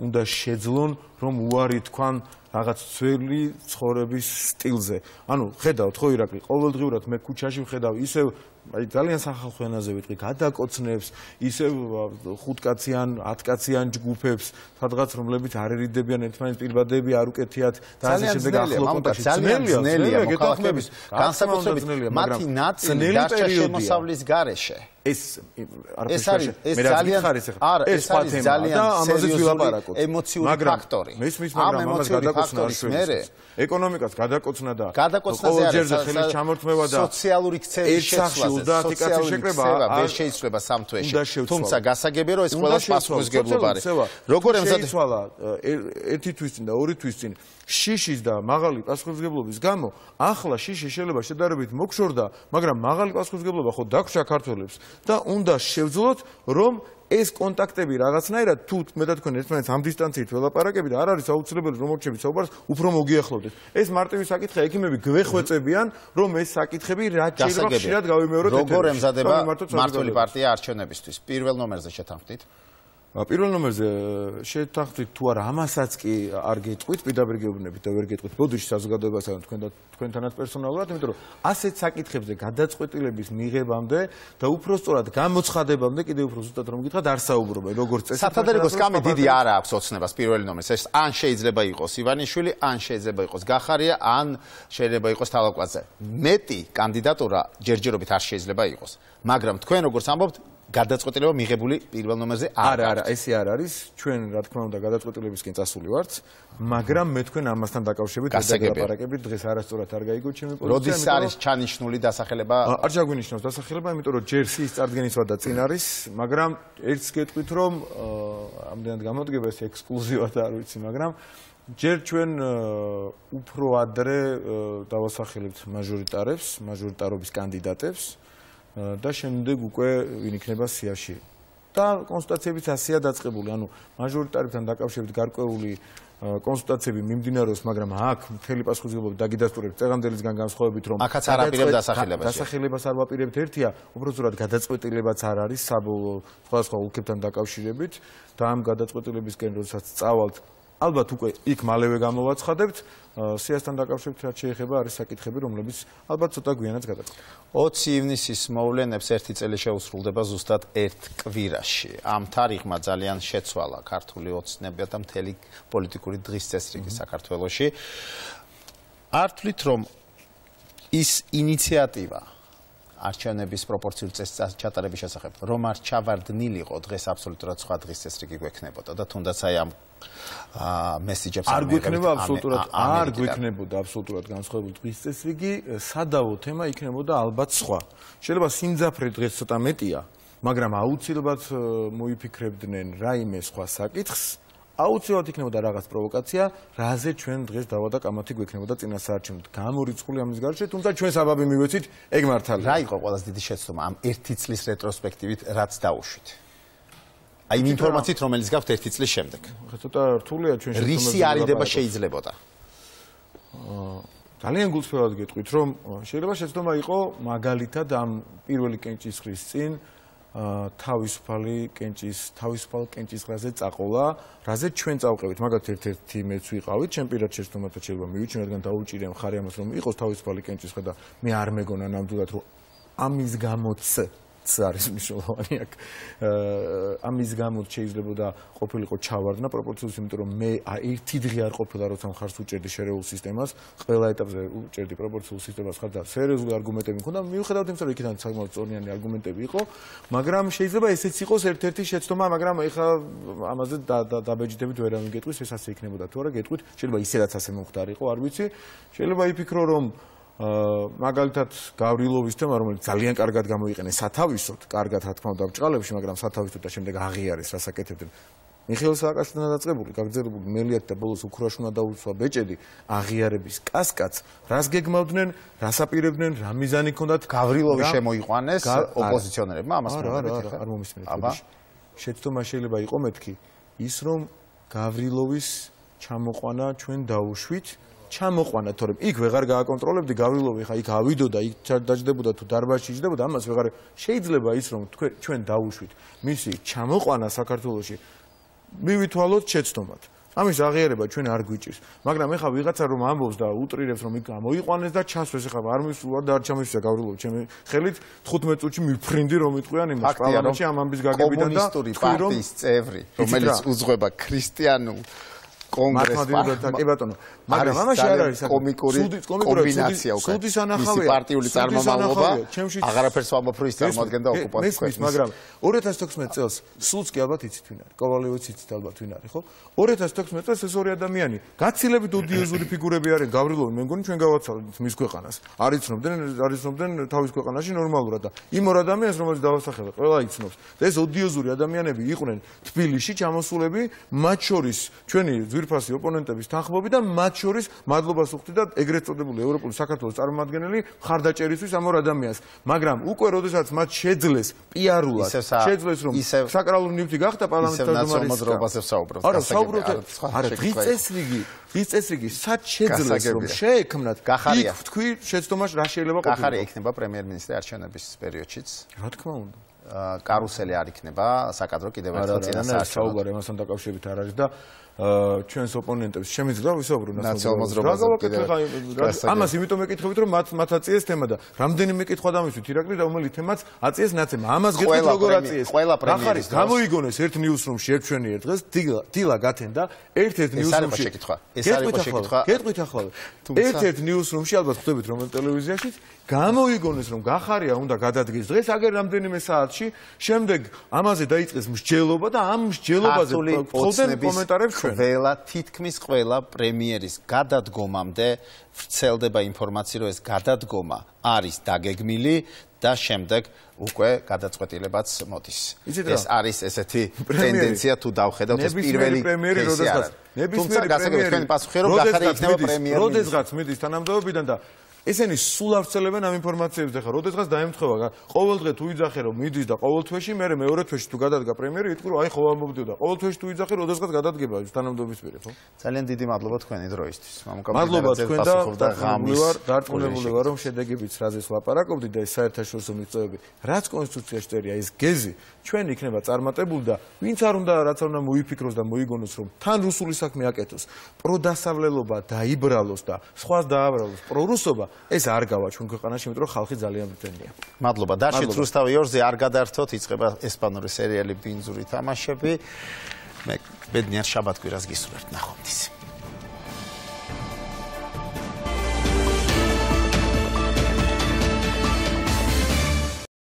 უნდა შეძლონ, რომ უარი თქვან რაღაც ძველი ცხოვრების სტილზე. ანუ ხედავთ ხო ირაკლი, ყოველდღიურად მე ქუჩაში ვხედავ ისევ აი ძალიან სახალხო ენაზე ვიტყვი, გადაკოცნებს, ისევ 5-კაციან, 10-კაციან ჯგუფებს, სადღაც რომლებიც არ ერიდებიან ერთმანეთს პირბადები, არ უკეთიათ და ასე შემდეგ ახლო კონტაქტში. ძნელია მოქალაქეების განსაკუთრებით მათი ნაწილი დარჩა შემოსავლის გარეშე. ეს ძალიან სერიოზული ემოციური ფაქტორი. მაგრამ ამას გადაკოცნა არ შეგვიძლია. ეკონომიკას გადაკოცნა და ყოველჯერზე ხელის ჩამორთმევა და სოციალური ქცევის შეცვლაზე, დატიკაციის შეკრება ვერ შეიცვლება სამ თვეში. თუმცა გასაგებია რომ ეს ყველა პასუხისმგებლობა არის. როგორ ემსაძვალა ერთი თვის წინ და ორი თვის წინ შიშის და მაღალი პასუხისმგებლობის გამო ახლა შიში შეიძლება შედარებით მოგშორდა, მაგრამ მაღალი პასუხისმგებლობა ხო დაგვრჩა ქართველებს და უნდა შევძლოთ რომ ეს კონტაქტები რაღაცნაირად თუ მე და თქვენ ერთმანეთს ამ დისტანციით ველაპარაკები და არ არის აუცილებელი რომ მორჩებით საუბარს უფრო მოგიახლოვდეთ. ეს მარტივი საკითხია, ექიმები გვეხვეწებიან რომ ეს საკითხები რაც შეიძლება ხშირად გავიმეოროთ. როგორ ემზადება მმართველი პარტია არჩევნებისთვის? პირველ ნომერზე შეთანხმდით? პირველ ნომერზე შეთანხმდით თუ არა, ამასაც კი არ გეტყვით, პირდაპირ გეუბნებით და ვერ გეტყვით ბოდიში საზოგადოებასთან თქვენთანაც პერსონალურად, იმიტომ რომ ასეთ საკითხებზე გადაწყვეტილების მიღებამდე და უფრო სწორად გამოცხადებამდე კიდევ უფრო ზუსტად რომ გითხრათ არ საუბრობენ, როგორც წესი. სათადარიგო სკამი დიდი არ აქვს ოცნებას პირველი ნომერს. ეს ან შეიძლება იყოს ივანიშვილი, ან შეიძლება იყოს გახარია, ან შეიძლება იყოს თალაკვაძე. მეტი კანდიდატურა ჯერჯერობით არ შეიძლება იყოს. მაგრამ თქვენ როგორც ამბობთ, გადაწყვეტილება მიღებული პირველ ნომერზე არა, ესე არ არის. ჩვენ რა თქმა უნდა გადაწყვეტილებისკენ წასული ვართ, მაგრამ მე თქვენ ამასთან დაკავშირებით ველაპარაკებით, დღეს არასწორად არ გაიგოთ ჩემი პოზიცია. როდის არის ჩანიშნული დასახელება? არ ჩაგვინიშნავს დასახელება, იმიტომ რომ ჯერ სის წარდგენის ვადა წინ არის, მაგრამ ერთს გეტყვით რომ ამდენად გამოდგება ეს ექსკლუზივად არ ვიცი, მაგრამ ჯერ ჩვენ უფრო ადრე დავასახელებთ მაჟორიტარებს, მაჟორიტარობის კანდიდატებს და შემდეგ უკვე ვინ იქნება სიაში. და კონსულტაციებიც ასეა დაწყებული, ანუ მაჟორიტარებთან დაკავშირებით გარკვეული კონსულტაციები მიმდინარეობს, მაგრამ აქ მთელი პასუხისმგებლობა დაგიდასტურებთ წეღამდელისგან განსხვავებით, რომ აქაც არ აპირებთ დასახელებას. დასახელებას არ ვაპირებთ ერთია, უფრო სწორად გადაწყვეტილებაც არ არის საბოლოო სხვადასხვა ოლქებთან დაკავშირებით და ამ გადაწყვეტილებისკენ როდესაც წავალთ ალბათ უკვე იქ მალევე გამოვაცხადებთ, სიასთან დაკავშირებით რაც შეეხება არის საკითხები, რომლებიც ალბათ ცოტა გვიანაც გადაწყდა. 20 ივნისის მოვლენებს ერთი წელი შეუსრულდება ზუსტად ერთ კვირაში. ამ თარიღმა ძალიან შეცვალა ქართული ოცნებია და მთელი პოლიტიკური დღის წესრიგი საქართველოში. არ თვლით, რომ ის ინიციატივა არჩევნების პროპორციულ წესს ჩატარების შესახებ, რომ არ ჩავარდნილიყო, დღეს აბსოლუტურად სხვა დღის წესრიგი გვექნებოდა და თუნდაც აი ამ მესიჯებს არ გვექნება აბსოლუტურად არ გვექნებოდა აბსოლუტურად განსხვავებული დღის წესრიგი, სადავო თემა იქნებოდა ალბათ სხვა. შეიძლება სიმძაფრე დღეს ცოტა მეტია, მაგრამ აუცილებლად მოიფიქრებდნენ რაიმე სხვა საკითხს. აუცილებლად იქნებოდა რაღაც პროვოკაცია, რაზე ჩვენ დღეს დავა და კამათი გვექნებოდა წინასაარჩევნოდ. გამორიცხული ამის გარშე, თუმცა ჩვენ საბაბი მივეცით, ეგ მართალია. რა იყო ყველაზე დიდი შეცდომა ამ ერთი წლის რეტროსპექტივით, რაც დაუშვით? აი იმ ინფორმაციით, რომელიც გაქვთ ერთი წლის შემდეგ. ცოტა რთულია ჩვენ შეცდომები. რისი არიდება შეიძლებოდა? ძალიან გულწრფელად გეტყვით, რომ შეიძლება შეცდომა იყო მაგალითად ამ პირველი კენჭისყრის წინ თავისუფალ კენჭისყრაზე წაყოლა, რაზეც ჩვენ წავყევით, მაგათ ერთ-ერთი მეც ვიყავით, ჩვენ პირად შეცდომათა შეიძლება მივიჩნიო, რადგან დაუჭირია მხარი ამას, რომ იყოს თავისუფალი კენჭისყრა და მე არ მეგონა ნამდვილად, რომ ამის გამოც არის მნიშვნელოვანი აქ. ამის გამოც შეიძლებოდა ყოფილიყო ჩავარდნა პროპორციულს, იმიტომ რომ მე ერთი დღე არ ყოფილა, როცა მხარს უჭერდი შერეულ სისტემას, ყველა ეტაპზე უჭერდი პროპორციულ სისტემას ხარ და სერიოზული არგუმენტები მქონდა. მიუხედავად იმისა, რომ იქიდან საკმაოდ სწორნიანი არგუმენტები იყო, მაგრამ შეიძლება ესეც იყოს ერთ-ერთი შეცდომა, მაგრამ ეხლა ამაზე დაბეჭდებით ვერავინ გეტყვის, ეს ასე იქნებოდა თუ არა, გეტყვით, შეიძლება ისედაც ასე მომხდარიყო, არ ვიცი. შეიძლება იფიქრო, რომ მაგალითად გავრილოვის თემა, რომელიც ძალიან კარგად გამოიყენეს სათავისოდ, კარგად რა თქმა უნდა ბჭყალებში, მაგრამ სათავისოდ და შემდეგ აღიარეს, რას აკეთებდნენ. მიხეილ სააკაშვილთან დაწყებული, გაგრძელებული მელიათ და ბოლოს უქრაში უნდა დაუსვა ბეჭედი აღიარების კასკადს, რას გეგმავდნენ, რას აპირებდნენ, რა მიზანი ჰქონდათ. გავრილოვი შემოიყვანეს ოპოზიციონერებმა, ამას არ მომისმენთ. შეცდომა შეიძლება იყო მეთქი ის, რომ გავრილოვის ჩამოყვანა ჩვენ დაუშვით. ჩამოყვანა, თორემ იქ ვეღარ გააკონტროლებდი გავრილოვი, ხა იქ ავიდოდა, იქ დაждდებოდა თუ დარბაზში იჯდებოდა, ამას ვეღარ შეიძლება ის რომ ჩვენ დაუშვით. მისი ჩამოყვანა საქართველოში მივითვალოთ შეცდომად. ამის აღიარება ჩვენ არ გვიჭირს, მაგრამ ეხლა ვიღაცა რომ ამბობს და უტრირებს რომ იქ გამოიყვანეს და ჩასვეს, ეხლა არ მისულა და არ ჩამისვია გავრილოვი, ჩემი ხელით 15 წუთში მიფრინდი რომ იტყვიან იმას პარლამენტში ამ ამბის გაგებიდან და კომუნისტური პარტიის წევრი, რომელიც უძღვება ქრისტიანულ კონგრესს, კი ბატონო, მაგრამ ამაში არ არის კომიკური კომბინაცია უკვე. სუდის ანახავია, პარტიული წარმომავლობა, აღარაფერს ვამბობ, რომ ის წარმოადგენდა ოკუპანტის ქვეყნას. მაგრამ 2016 წელს სულს კი ალბათ იცით ვინ არის, კოვალევიც იცით ალბათ ვინ არის, ხო? 2016 წელს ეს ორი ადამიანი გაცილებით ოდიოზური ფიგურები არიან, გავრილოვი, მე მგონი ჩვენ გავაცალეთ მის ქვეყანას. არ იცნობდნენ თავის ქვეყანაში ნორმალურად და იმ ორ ადამიანს, რომელიც დავასახელე, ყველა იცნობს. და ეს ოდიოზური ადამიანები იყვნენ თბილისში ჩამოსულები, მათ შორის ჩვენი ძვირფასი ოპონენტების თანხმობი და მათ შორის მადლობას ვუხდი და ეგრეთ წოდებული ევროპული საქართველოს წარმომადგენელი მხარდაჭერისთვის ამ ორ ადამიანს. მაგრამ უკვე როდესაც მათ შეძლეს პიარულად, შეძლეს რომ საკრალური ნივთი გახდა პარლამენტის თავმჯდომარეობაზე ვსაუბრობთ. არა, საუბრობთ, არა, დღის წესრიგი სად შეძლეს რომ შეექმნათ, იქ თქვი შეცდომაში რა შეიძლება ყოფილიყო. გახარია იქნება პრემიერ-მინისტრი არჩევნების პერიოდშიც. რა თქმა უნდა. კარუსელი არ იქნება, საკადრო კიდევ ერთხელ წინასაარჩევნო. საუბარი ამასთან დაკავშირებით არ არის და ჩვენს ოპონენტებს შემიძლია ვისაუბრო ნაციონალურ მოძრაობაზე. ამას იმიტომ მეკითხებით, რომ მათ აწიეს თემა და რამდენიმე კითხვა დამისვით ირაკლი, რომელი თემაც აწიეს ნაცემ. ამას გეტყვით როგორ აწიეს. ახარის გამოიგონეს ერთ ნიუსრუმში ერთ ჩვენი ერთ დღეს დილა გათენდა ერთ-ერთ ნიუსრუმში. ეს არის შეკითხვა. გეტყვით ახლა. ერთ-ერთ ნიუსრუმში ალბათ ხვდებით რომ ტელევიზიაში გამოიგონეს რომ გახარია უნდა გადადგეს დღეს აგერ რამდენიმე საათში, შემდეგ ამაზე დაიწყეს მსჯელობა და ამ მსჯელობაზე ხვდნენ კომენტარებს ყველა თითქმის ყველა პრემიერის გადადგომამდე ვრცელდება ინფორმაცია, რომ ეს გადადგომა არის დაგეგმილი და შემდეგ უკვე გადაწყვეტილებაც მოდის. ეს არის ესეთი ტენდენცია თუ დავხედავთ ეს პირველი კეისი არის. თუმცა გასაგებია თქვენი პასუხი რომ გახარია იქნება პრემიერ-მინისტრი. როდესღაც მიდის თანამდებობიდან და ესენი სულ აღწელებენ ამ ინფორმაციებს და ხა როდესღაც დაემთხვევა ყოველ დღე თუ იძახე რომ მიდის და ყოველ თვეში მე მეორე თვეში თუ გადადგა პრემიერი იტყვი რომ აი ხო ამბობდიო და ყოველ თვეში თუ იძახე როდესღაც გადადგება ის თანამდებობის პირი ხო ძალიან დიდი მადლობა თქვენი დროისთვის მადლობა თქვენ და დარწმუნებული ვარ რომ შედეგებიც რაზეც ლაპარაკობდით და ეს საერთაშორისო მიწოები რაც კონსტიტუციაში წერია ეს გეზი ჩვენ იქნება წარმატებული და ვინც არ უნდა რაც არ უნდა მოიფიქროს და მოიგონოს რომ თან რუსული საქმე აკეთოს პროდასავლელობა დაიბრალოს და სხვას დააბრალოს პრორუსობა ეს არ გავა ჩვენ ქვეყანაში, იმიტომ რომ ხალხი ძალიან მტენია. მადლობა. დაშით რუსთავი 2-ზე არ გადაართოთ, იწყება ესპანური სერიალი ბინძური თამაშები. მე ბედნიერ შაბათ-კვირას გისურვებთ ნახვამდის.